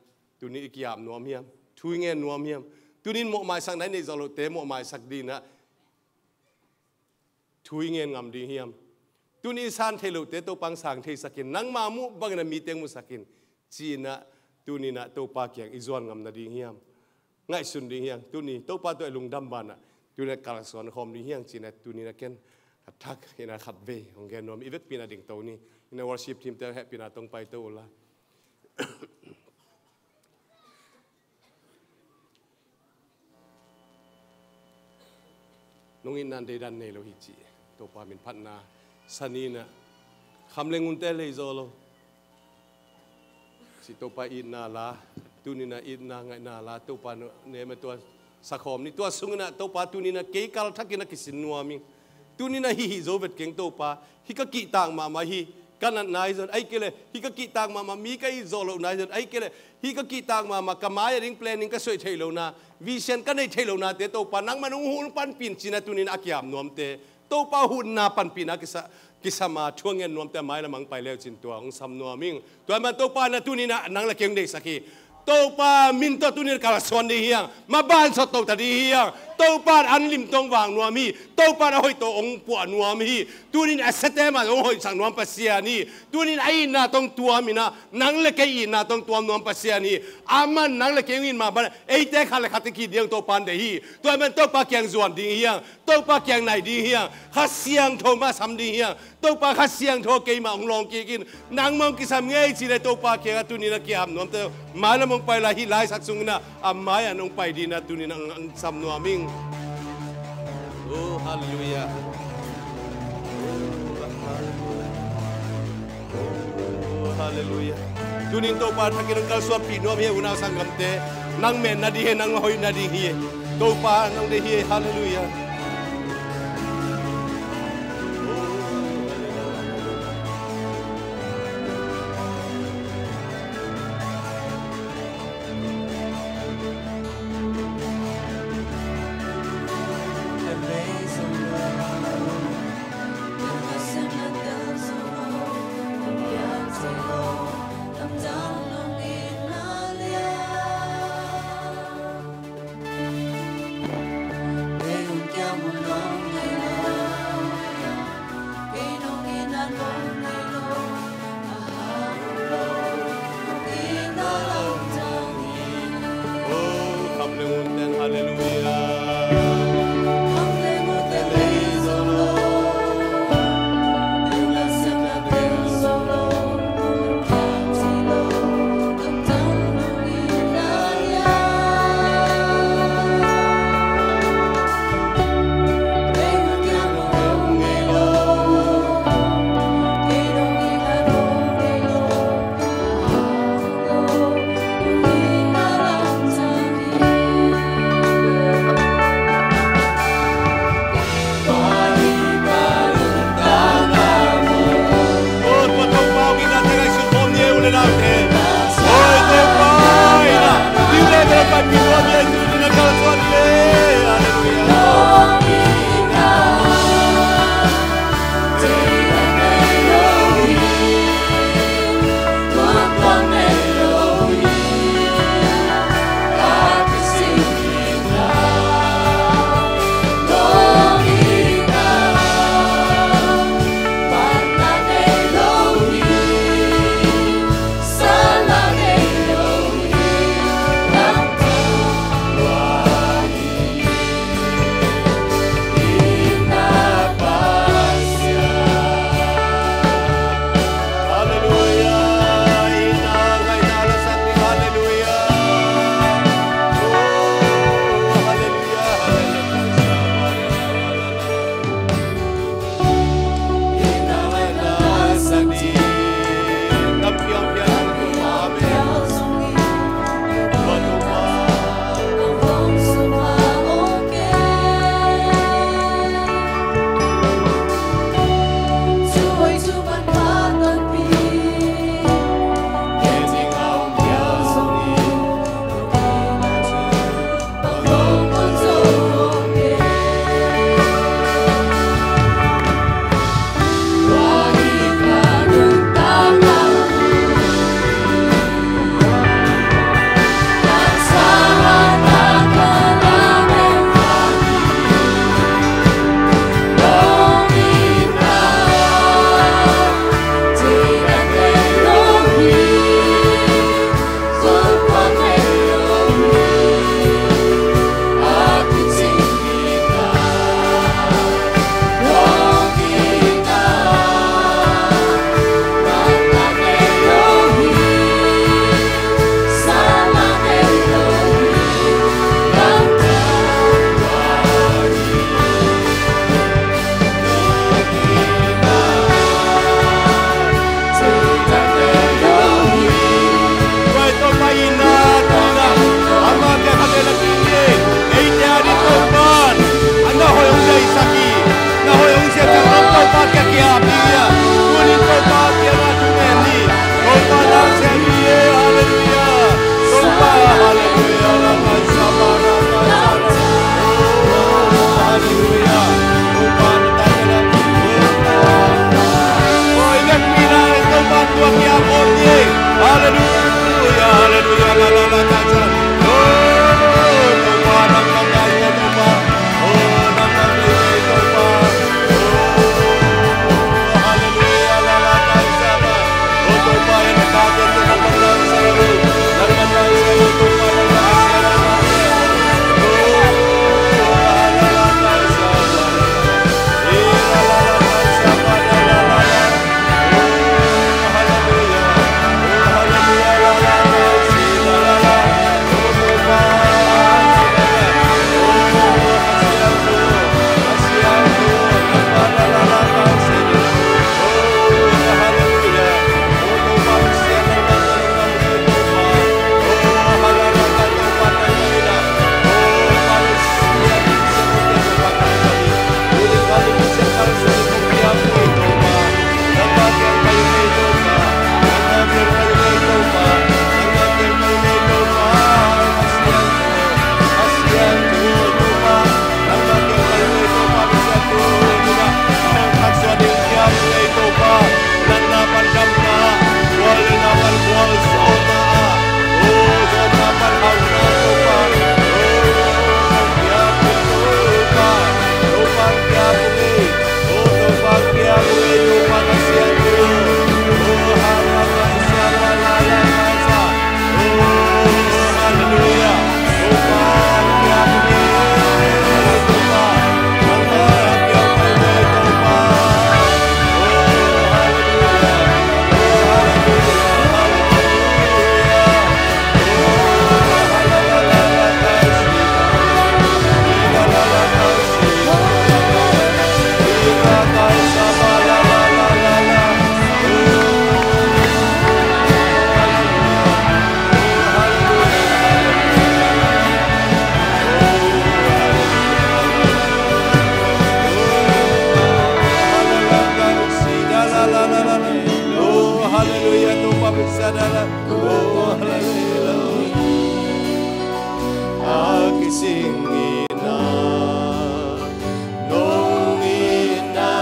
tuni i ki-ap nuam hiam? Thu i ngen nuam hiam? Tuni-in mawhmaisakna i neih zawh lote mawhmaisak dingin ah thu i ngen ngam ding hiam? Tuni i san theih lohte Topa in sang theisak in, nangma muh bangin ah mite hong musak in. Ci-in ah, tuni-in ah Topa kiang i zuan ngam nading hiam? Ngaihsun ding hiam? Tuni Topa tawh i lungdam banah, tuni-in ah kalsuan khawm ding hiam? Ci-in ah tuni-in ah ken a thak in ah khatvei hong gen nuam, i vekpi-in ah dingto ni. In ah worship team te hehpihna tawh hong paito uh la. Nong itna in deidan nei lo hi ci. Topa min phatna sa ni-in ah, kham le ngunte lei zaw lo. Ci Topa itna la, tuni-in ah itna ngaihna la, Topa ne ma tua sa khawm ni. Tua sungin ah Topa tuni-in ah kei kalthakin ah kisin nuam ing. Tuni-in ah hih hih zo vet keng Topa, hih ka kihtak mahmah hi, ka natna hi zong, ahih kei leh hih ka kihtak mahmah mi ka it zawh lohna hi zong, ahih kei leh hih ka kihtak mahmah ka mai-ah ding planning ka suaih theih lohna, vision ka neih theih lohnate Topa nangman hong hun panpih in ci-in ah tuni-in ah a kiam nuamte Topa hutna panpihna kisa, kisam a thu a ngen nuamte a mailam ah hong pai le uh cin tua hong sam nuam ing. Tua ahih manin Topa in ah tuni-in ah nang le kei hong deihsak hi. Topa min tawh tuni-in kalsuan ding hi hang. Maban sawt to ta ding hi hang. Topa in an lim tawh hong vak nuam hi. Topa in a hoih tawh hong puah nuam hi. Tuni-in a siate mah hong hoihsak nuam Pasian hi. Tuni-in a itna tawh hong tuam in ah, nang le kei itna tawh hong tuam nuam Pasian hi. Aman nang le kei hong it mah bangin eite khat le khat i ki-it ding Topa in deih hi. Tua ahih manin Topa kiang zuan ding hi hang. Topa kiang nai ding hi hang. Kha Siangtho mah sam ding hi hang. Topa Kha Siangtho keimah hong lawng kik in, nangmah hong kisam ngei ci-in ah Topa kiangah tuni-in ah kiam nuamte mailam hong pai lai, hih laisak sungin ah a mai-ah hong pai dingin ah tuni-in ah hong sam nuam ing. Oh, halleluiah. Oh, halleluiah. Tuni-in Topa thakin hong kalsuanpih nuam hi, unau sanggamte. Nang meet nading hi, nang hoih nading hi. Topa nang deih hi. Halleluiah. Oh, hallelujah. A kising ina, nong ina,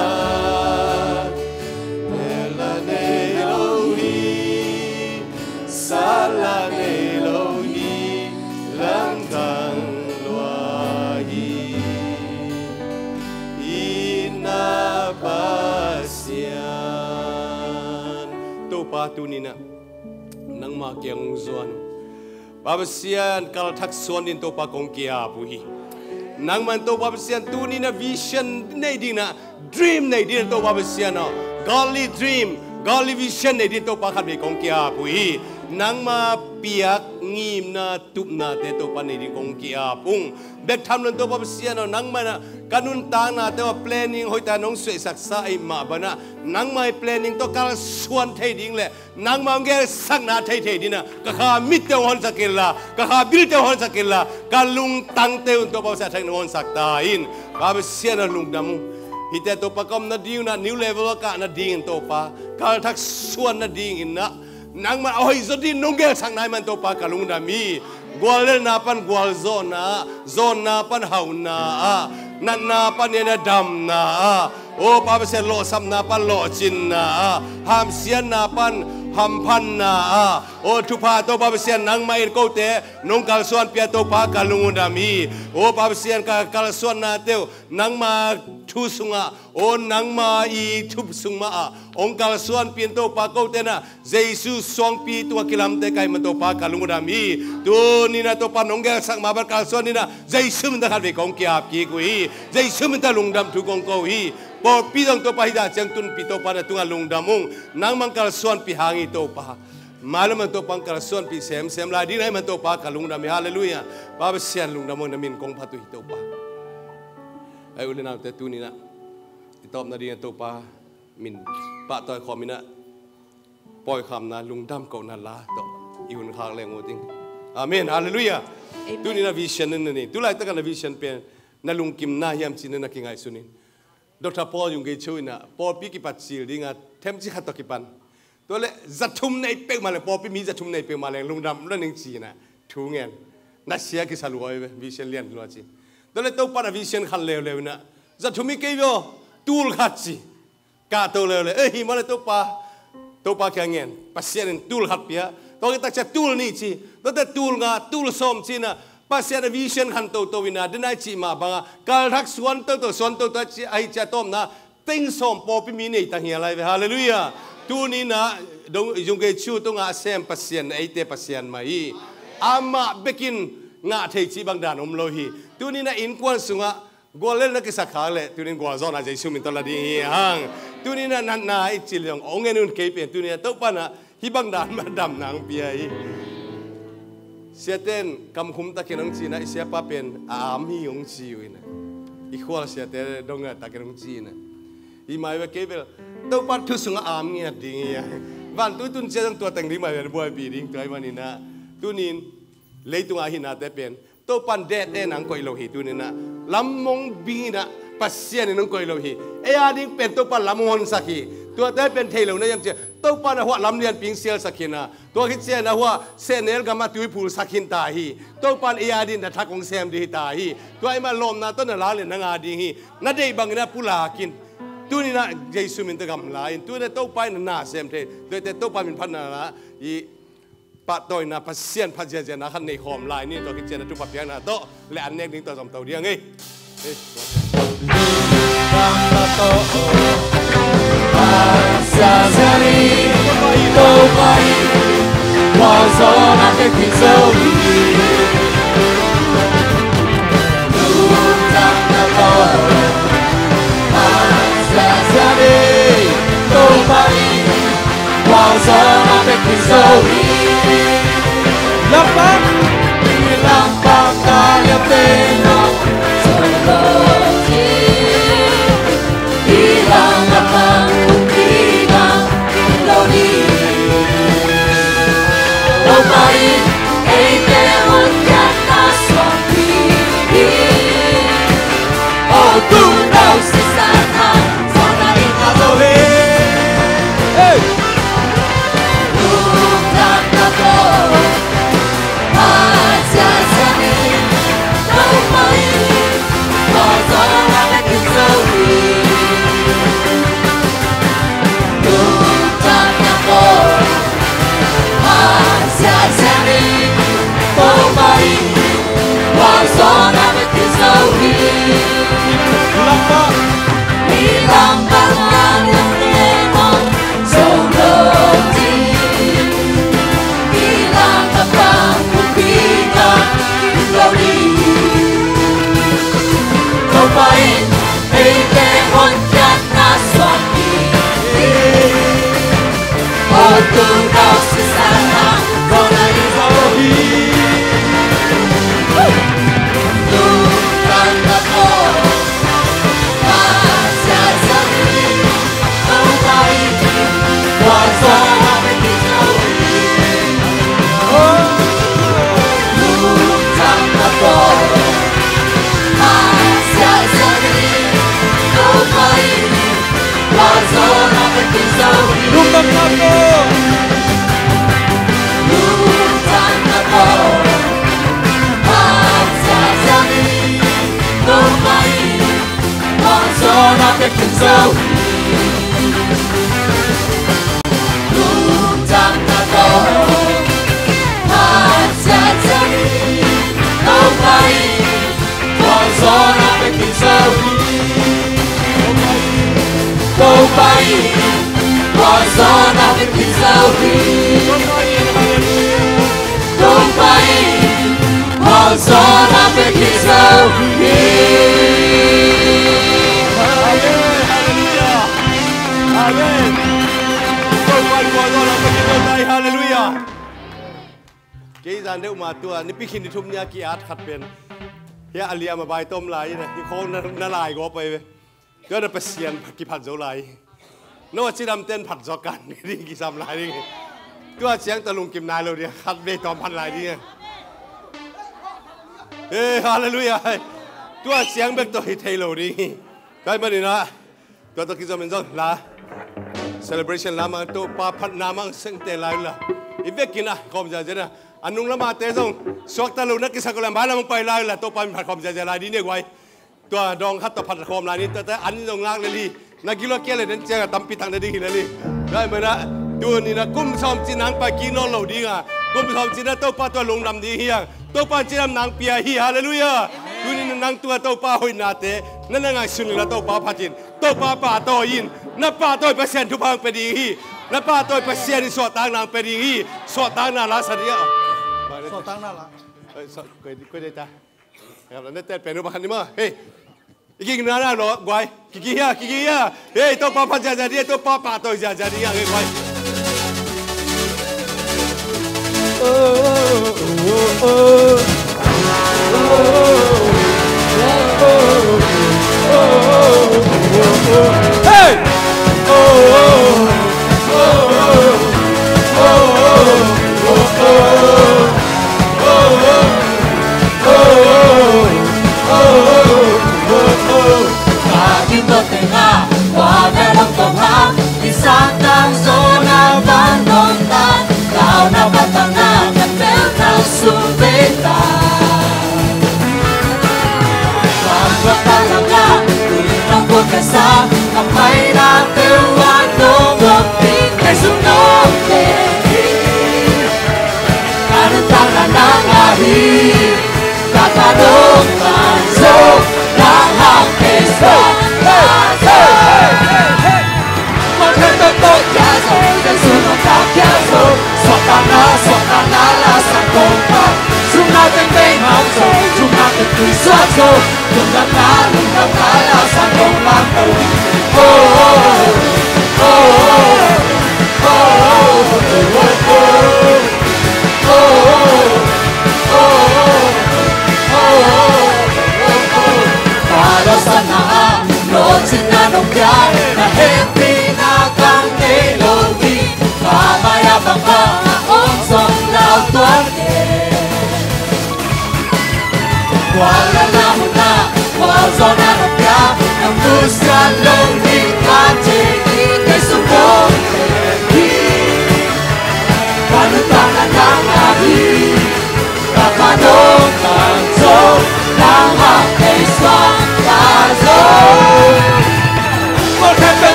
ela nei lo hi, sala nei lo hi, langtang lua hi. Ina Pasian. Topa, tunina nangma kiang hong zuan. Pa Pasian, kalthak suan din Topa kong ki-ap uh hi. Nangman Topa Pasian, tunina vision nei dinga, dream nei dinga Topa Pasian aw, godly dream, godly vision nei din Topa khatvei kong ki-ap uh hi. Nangma piak ngimna tupnate Topa nei din kong ki-ap ung. Bek tham lo in Topa Pasian aw, nangman ah ka nuntaknate uh a planning hoihtak nong suaisaksa ahih mah bangin ah, nangma i planning tawh kalsuan thei ding le nangma hong gelsakna theithei dinga ka kha mitte hong honsak inla, ka kha bilte hong honsak inla, ka lungtangte un Topa Pasian a thak nong honsak ta in. Pa Pasian aw, lungdam ung. Hihte Topa ka om nading un ah new level a kah nadingin Topa, kalthak suan nadingin ah nangman a hoih zaw din nong gelsakna ahih man Topa ka lungdam hi. Guallelhna pan gualzawhna ah, zawnna pan hauhna ah, natna pan ina damna ah, aw Pa Pasian, lawhsapna pan lawhcinna ah, hamsiatna pan hamphatna ah, aw thupha Topa Pasian, nangmah in kote nong kalsuanpih a Topa ka lungdam hi. Aw Pa Pasian, ka kalsuannate uh nangma thu sungah, aw nangma i thup sung mah ah hong kalsuanpih in Topa, kote na Jesu suangpi tungah kilamte ka hih man Topa ka lungdam hi. Tunina Topa nong gelsak mah bang kalsuan dinga Jesu min tawh khatvei kong ki-ap kik uh hi. Jesu min tawh lungdam thu kong ko uh hi. Pawlpi zong Topa hih dan ciang tunpih Topa na tungah lungdam ung. Nangmah kalsuanpih hang hi Topa. Mailam man Topa kalsuanpih semsem lai ding na hih man Topa ka lungdam hi. Halleluiah. Pa Pasian lungdam ung, na min kong phat uh hi Topa. Ai u le naute, tunina i tawpna dingin Topa min pahtawi khawm ina pawikhamna lungdam kohna la tawh i hun khak leng uh ding. Amen. Halleluiah. Amen. Tunina vision na nei, tulaitak a na vision pen na lungkimna hiam ci-in na kingaihsun in. Doctor Paul Yonggi Cho ina pawlpi kipat cil dinga themci khat tawh kipan, tua le za thum nei peuhmah leng, pawlpi mi za thum nei peuhmah leng lungdam lo ning ci-ina thu ngen. Na sia kisa lua hi ve, vision lian lua ci. Tua le Topa na vision khan leuleu ina za thum hi kei ve aw, tul khat ci. Kahto leuleu, eh, hi mah le Topa, Topa kiang ngen, Pasian in tul khat pia. Tua khit tak ciang tul nih ci, tuate tul nga, tul sawm ci-ina Pasian a vision khan toto ina, denai cih mah banga kalthak suan toto, suan toto a ci, ahi ciang tawpna teng sawm pawlpi mi nei tang hi a lai ve. Halleluiah. Tunina dong Yonggi Cho tungah a sem Pasian, eite Pasian mah hi. Amah bekin ngah thei cih bang dan om lo hi. Tunina innkuan sungah guallelhna kisak khak leh tunin gualzawhna Jesu min tawh la ding hi hang. Tunina natna i cil zong hong en un, kei pen tunina Topa na hih bang dan mah damna hong pia hi. Siate in kamkhum takin hong ci-ina, i siapa pen a am hi hong ci uh ina, i khual siate dong a takin hong ci ina. Hi mai ve, kei bel Topa thu sungah am ngiat ding hi a. Vantui tun ciang zong tua teng ding mai ve, buaipih ding tua ahih manin ah, tunin leitungah a hihnate pen Topa in dead end ah hong koih lo hi. Tunin ah lam mong bing ina Pasian in hong koih lo hi. Ei a ding pen Topa in lam hong honsak hi. Tuate pen thei lo na hiam cih leh Topa in a huah lam lianpi hong sialsak hi ina, tua khit ciang a huah sehnel gamah tui phulsak hi ta hi. Topa in ei a dingin na thak hong sem ding hi ta hi. Tua ahih manin lawpna tawh na lak leh na ngah ding hi. Na deih bangin ah pulak in. Tunin ah Jesu min tawh gamla in. Tunin ah Topa in na na sem thei. Tuate Topa min phatna la i pahtawina, Pasian phat ziahziahna khat nei khawm lai ni. Tua khit ciang a thupha piakna tawh le an nek ding tawh zom to ding ei. Lungtang na tawh phat ziahziah hi. Topa in khualzawhna pia khin zo hi. Topa in khualzawhna pia khin zo hi. Topa in khualzawhna pia khin zo hi. Amen. Amen. Topa in khualzawhna pia khin zo hi. Halleluiah. Kei zan deuh ma tua Nipi khin ni thum ni a ki-at khat pen, hia a liam a bai tawm lai in a, hi khawng na, na lai gawp pai ve. Tua na Pasian kiphat zo lai. No a cidam ten phat zo kan ding kisam lai ding. Tua ciang tua lungkim nai lo ding, khat vei tawm phat lai ding. Eh, halleluiah. Tua ciang bek tawh hi thei lo ding. Tua ahih manin ah, tua tawh kizom in zong la, celebration lam ah Topa phatna mang sengte lai unla, i vekin ah khawm ziahziah in ah, a nung lam ah te zong suakta lo na kisak uh leh mai lam hong pai lai unla, Topa min phat khawm ziahziah lai ding ni guai. Tua dawng khat tawh phat khawm lai ni, tua te an zong ngak lel hi. Na gilo kia le den ciang a tampi tak na ding hi lel hi. Tua ahih manin ah, tuni in ah kum sawm cin nang pai kik nawn lo ding a, kum sawm cin ah Topa tua lungdam ding hi hang. Topa in cidam nang pia hi. Halleluiah. Tuni in ah nang tung ah Topa hoihnate na na ngaihsun leh Topa phat in, Topa pahtawi in. Na pahtawi Pasian thupha hong pia ding hi. Na pahtawi Pasian in suahtakna hong pia ding hi. Suahtakna la sa ding a. Suahtakna la. Oi, sa-, koi, koi dei ta. Nete pen uh pakhat ni maw. Hei. I kik na na lo guai. Kiki hia, kiki hia. Hei, Topa phat ziahziah ding, Topa pahtawi ziahziah ding hang, hei guai. Hey!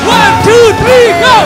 One, two, three, go!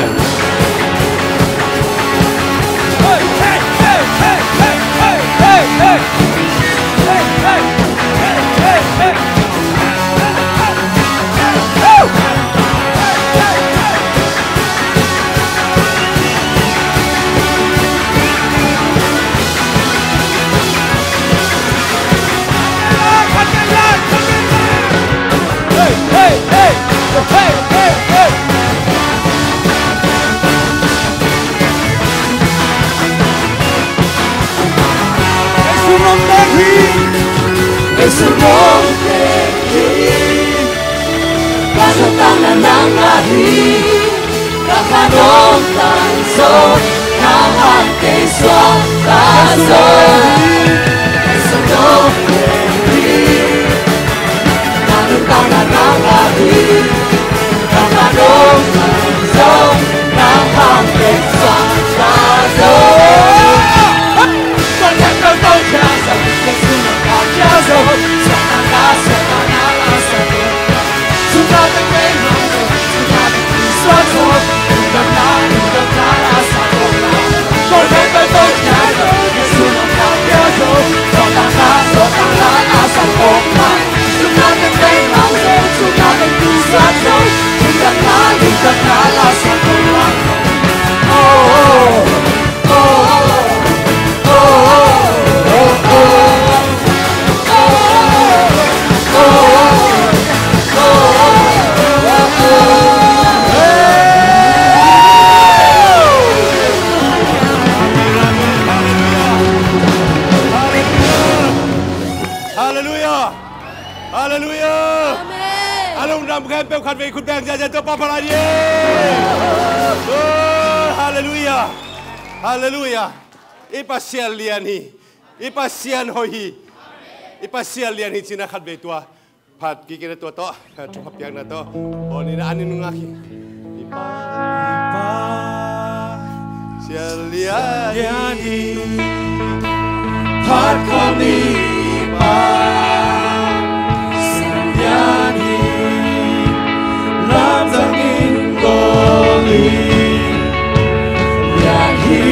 Halleluia! Halleluia! Amen. A lungdam khempeuh khatvei khut beng ziahziah Topa phat lai ni. Oh, halleluia! Halleluia! I Pasian lian hi. I Pasian hoih hi. I Pasian lian hi cihna khatvei tua phat kik in a, tua tawh thupha piakna tawh bawl ni. Na an in nungak hi. I Pa, i Pa, Pasian lian hi. Phat khawm ni, Pa, Pasian lian hi. Lamdang in bawl ni. Lian hi.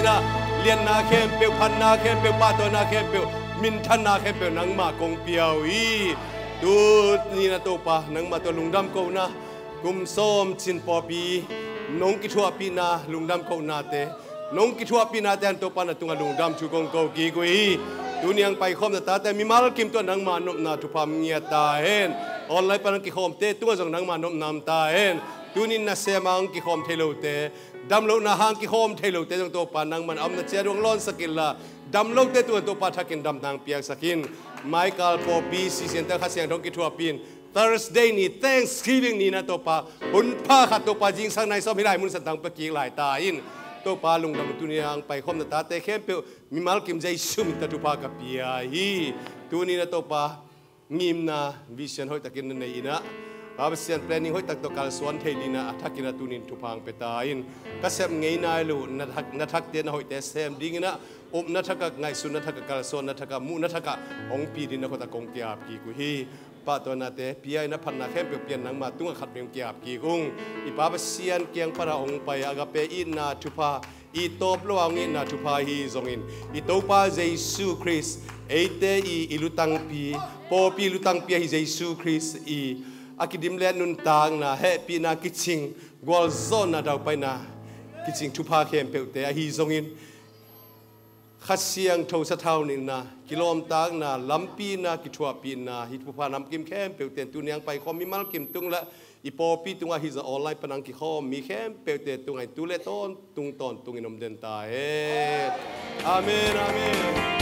Lianna khempeuh, phatna khempeuh, pahtawina khempeuh, minthanna khempeuh nangmah kong pia uh hi. Tuni-in ah Topa, nangmah tawh lungdam kohna, kum sawm cin pawlpi nong kithuahpihna lungdam kohnate, nong kithuahpihnate hang Topa na tungah lungdam thu kong ko kik uh hi. Tuni-in ah paikhawm na tate mimal kim tungah nangmah nopna thupha hong ngiat ta hen. Online pan hong kikhawmte tungah zong nangmah nopna om ta hen. Tuni-in nasem hang kikhawm thei lote, damlohna hang kikhawm thei lote zong Topa nangman a omna ciat uh hong lawnsak inla, damlote tungah Topa thakin damna hong piaksak in. Maikal pawlpi sisiante Kha Siangtho hong kithuahpih in, Thursday ni, Thanksgiving ni-in ah Topa, hun pha khat Topa zingsang nai sawm hih lai mun santang pia kik lai ta in. Topa lungdam, tuni-in ah paikhawm na tate khempeuh mimal kim Jesu min tawh thupha ka pia hi. Tuni-in ah Topa, ngimna, vision hoihtakin na nei in ah, Pa Pasian, planning hoihtak tawh kalsuan thei dingin ah a thakin ah tuni-in thupha hong pia ta in. Ka sep ngei nai loh na thak, na thakte na hoihte sem dingin ah, upna thak ah, ngaihsutna thak ah, kalsuanna thak ah, muhna thak ah hong pi dingin na khut ah kong ki-ap kik uh hi. Pahtawinate pia in ah, phatna khempeuh pia in, nangmah tungah khat vei hong ki-ap kik ung. I Pa Pasian kiang pan ah hong pai Agape itna thupha, i tawp lo a hong itna thupha ahi zongin, i Topa Jesu Khrist, eite i, i lutangpi, pawlpi lutangpi ahi Jesu Khrist i a kidim le nuntakna, hehpihna kicing, gualzawhna, daupaina kicing thupha khempeuhte ahi zongin, Kha Siangtho sathau nilhna, kilawmtatna, lampina, kithuahpihna, hih thupha namkim khempeuhte in tuni-in ah paikhawm mimal kim tung le i pawlpi tungah, ahi zong online pan hong kikhawm mi khempeuhte tungah in tu le tawntung tawntungin om den ta hen. Amen, amen.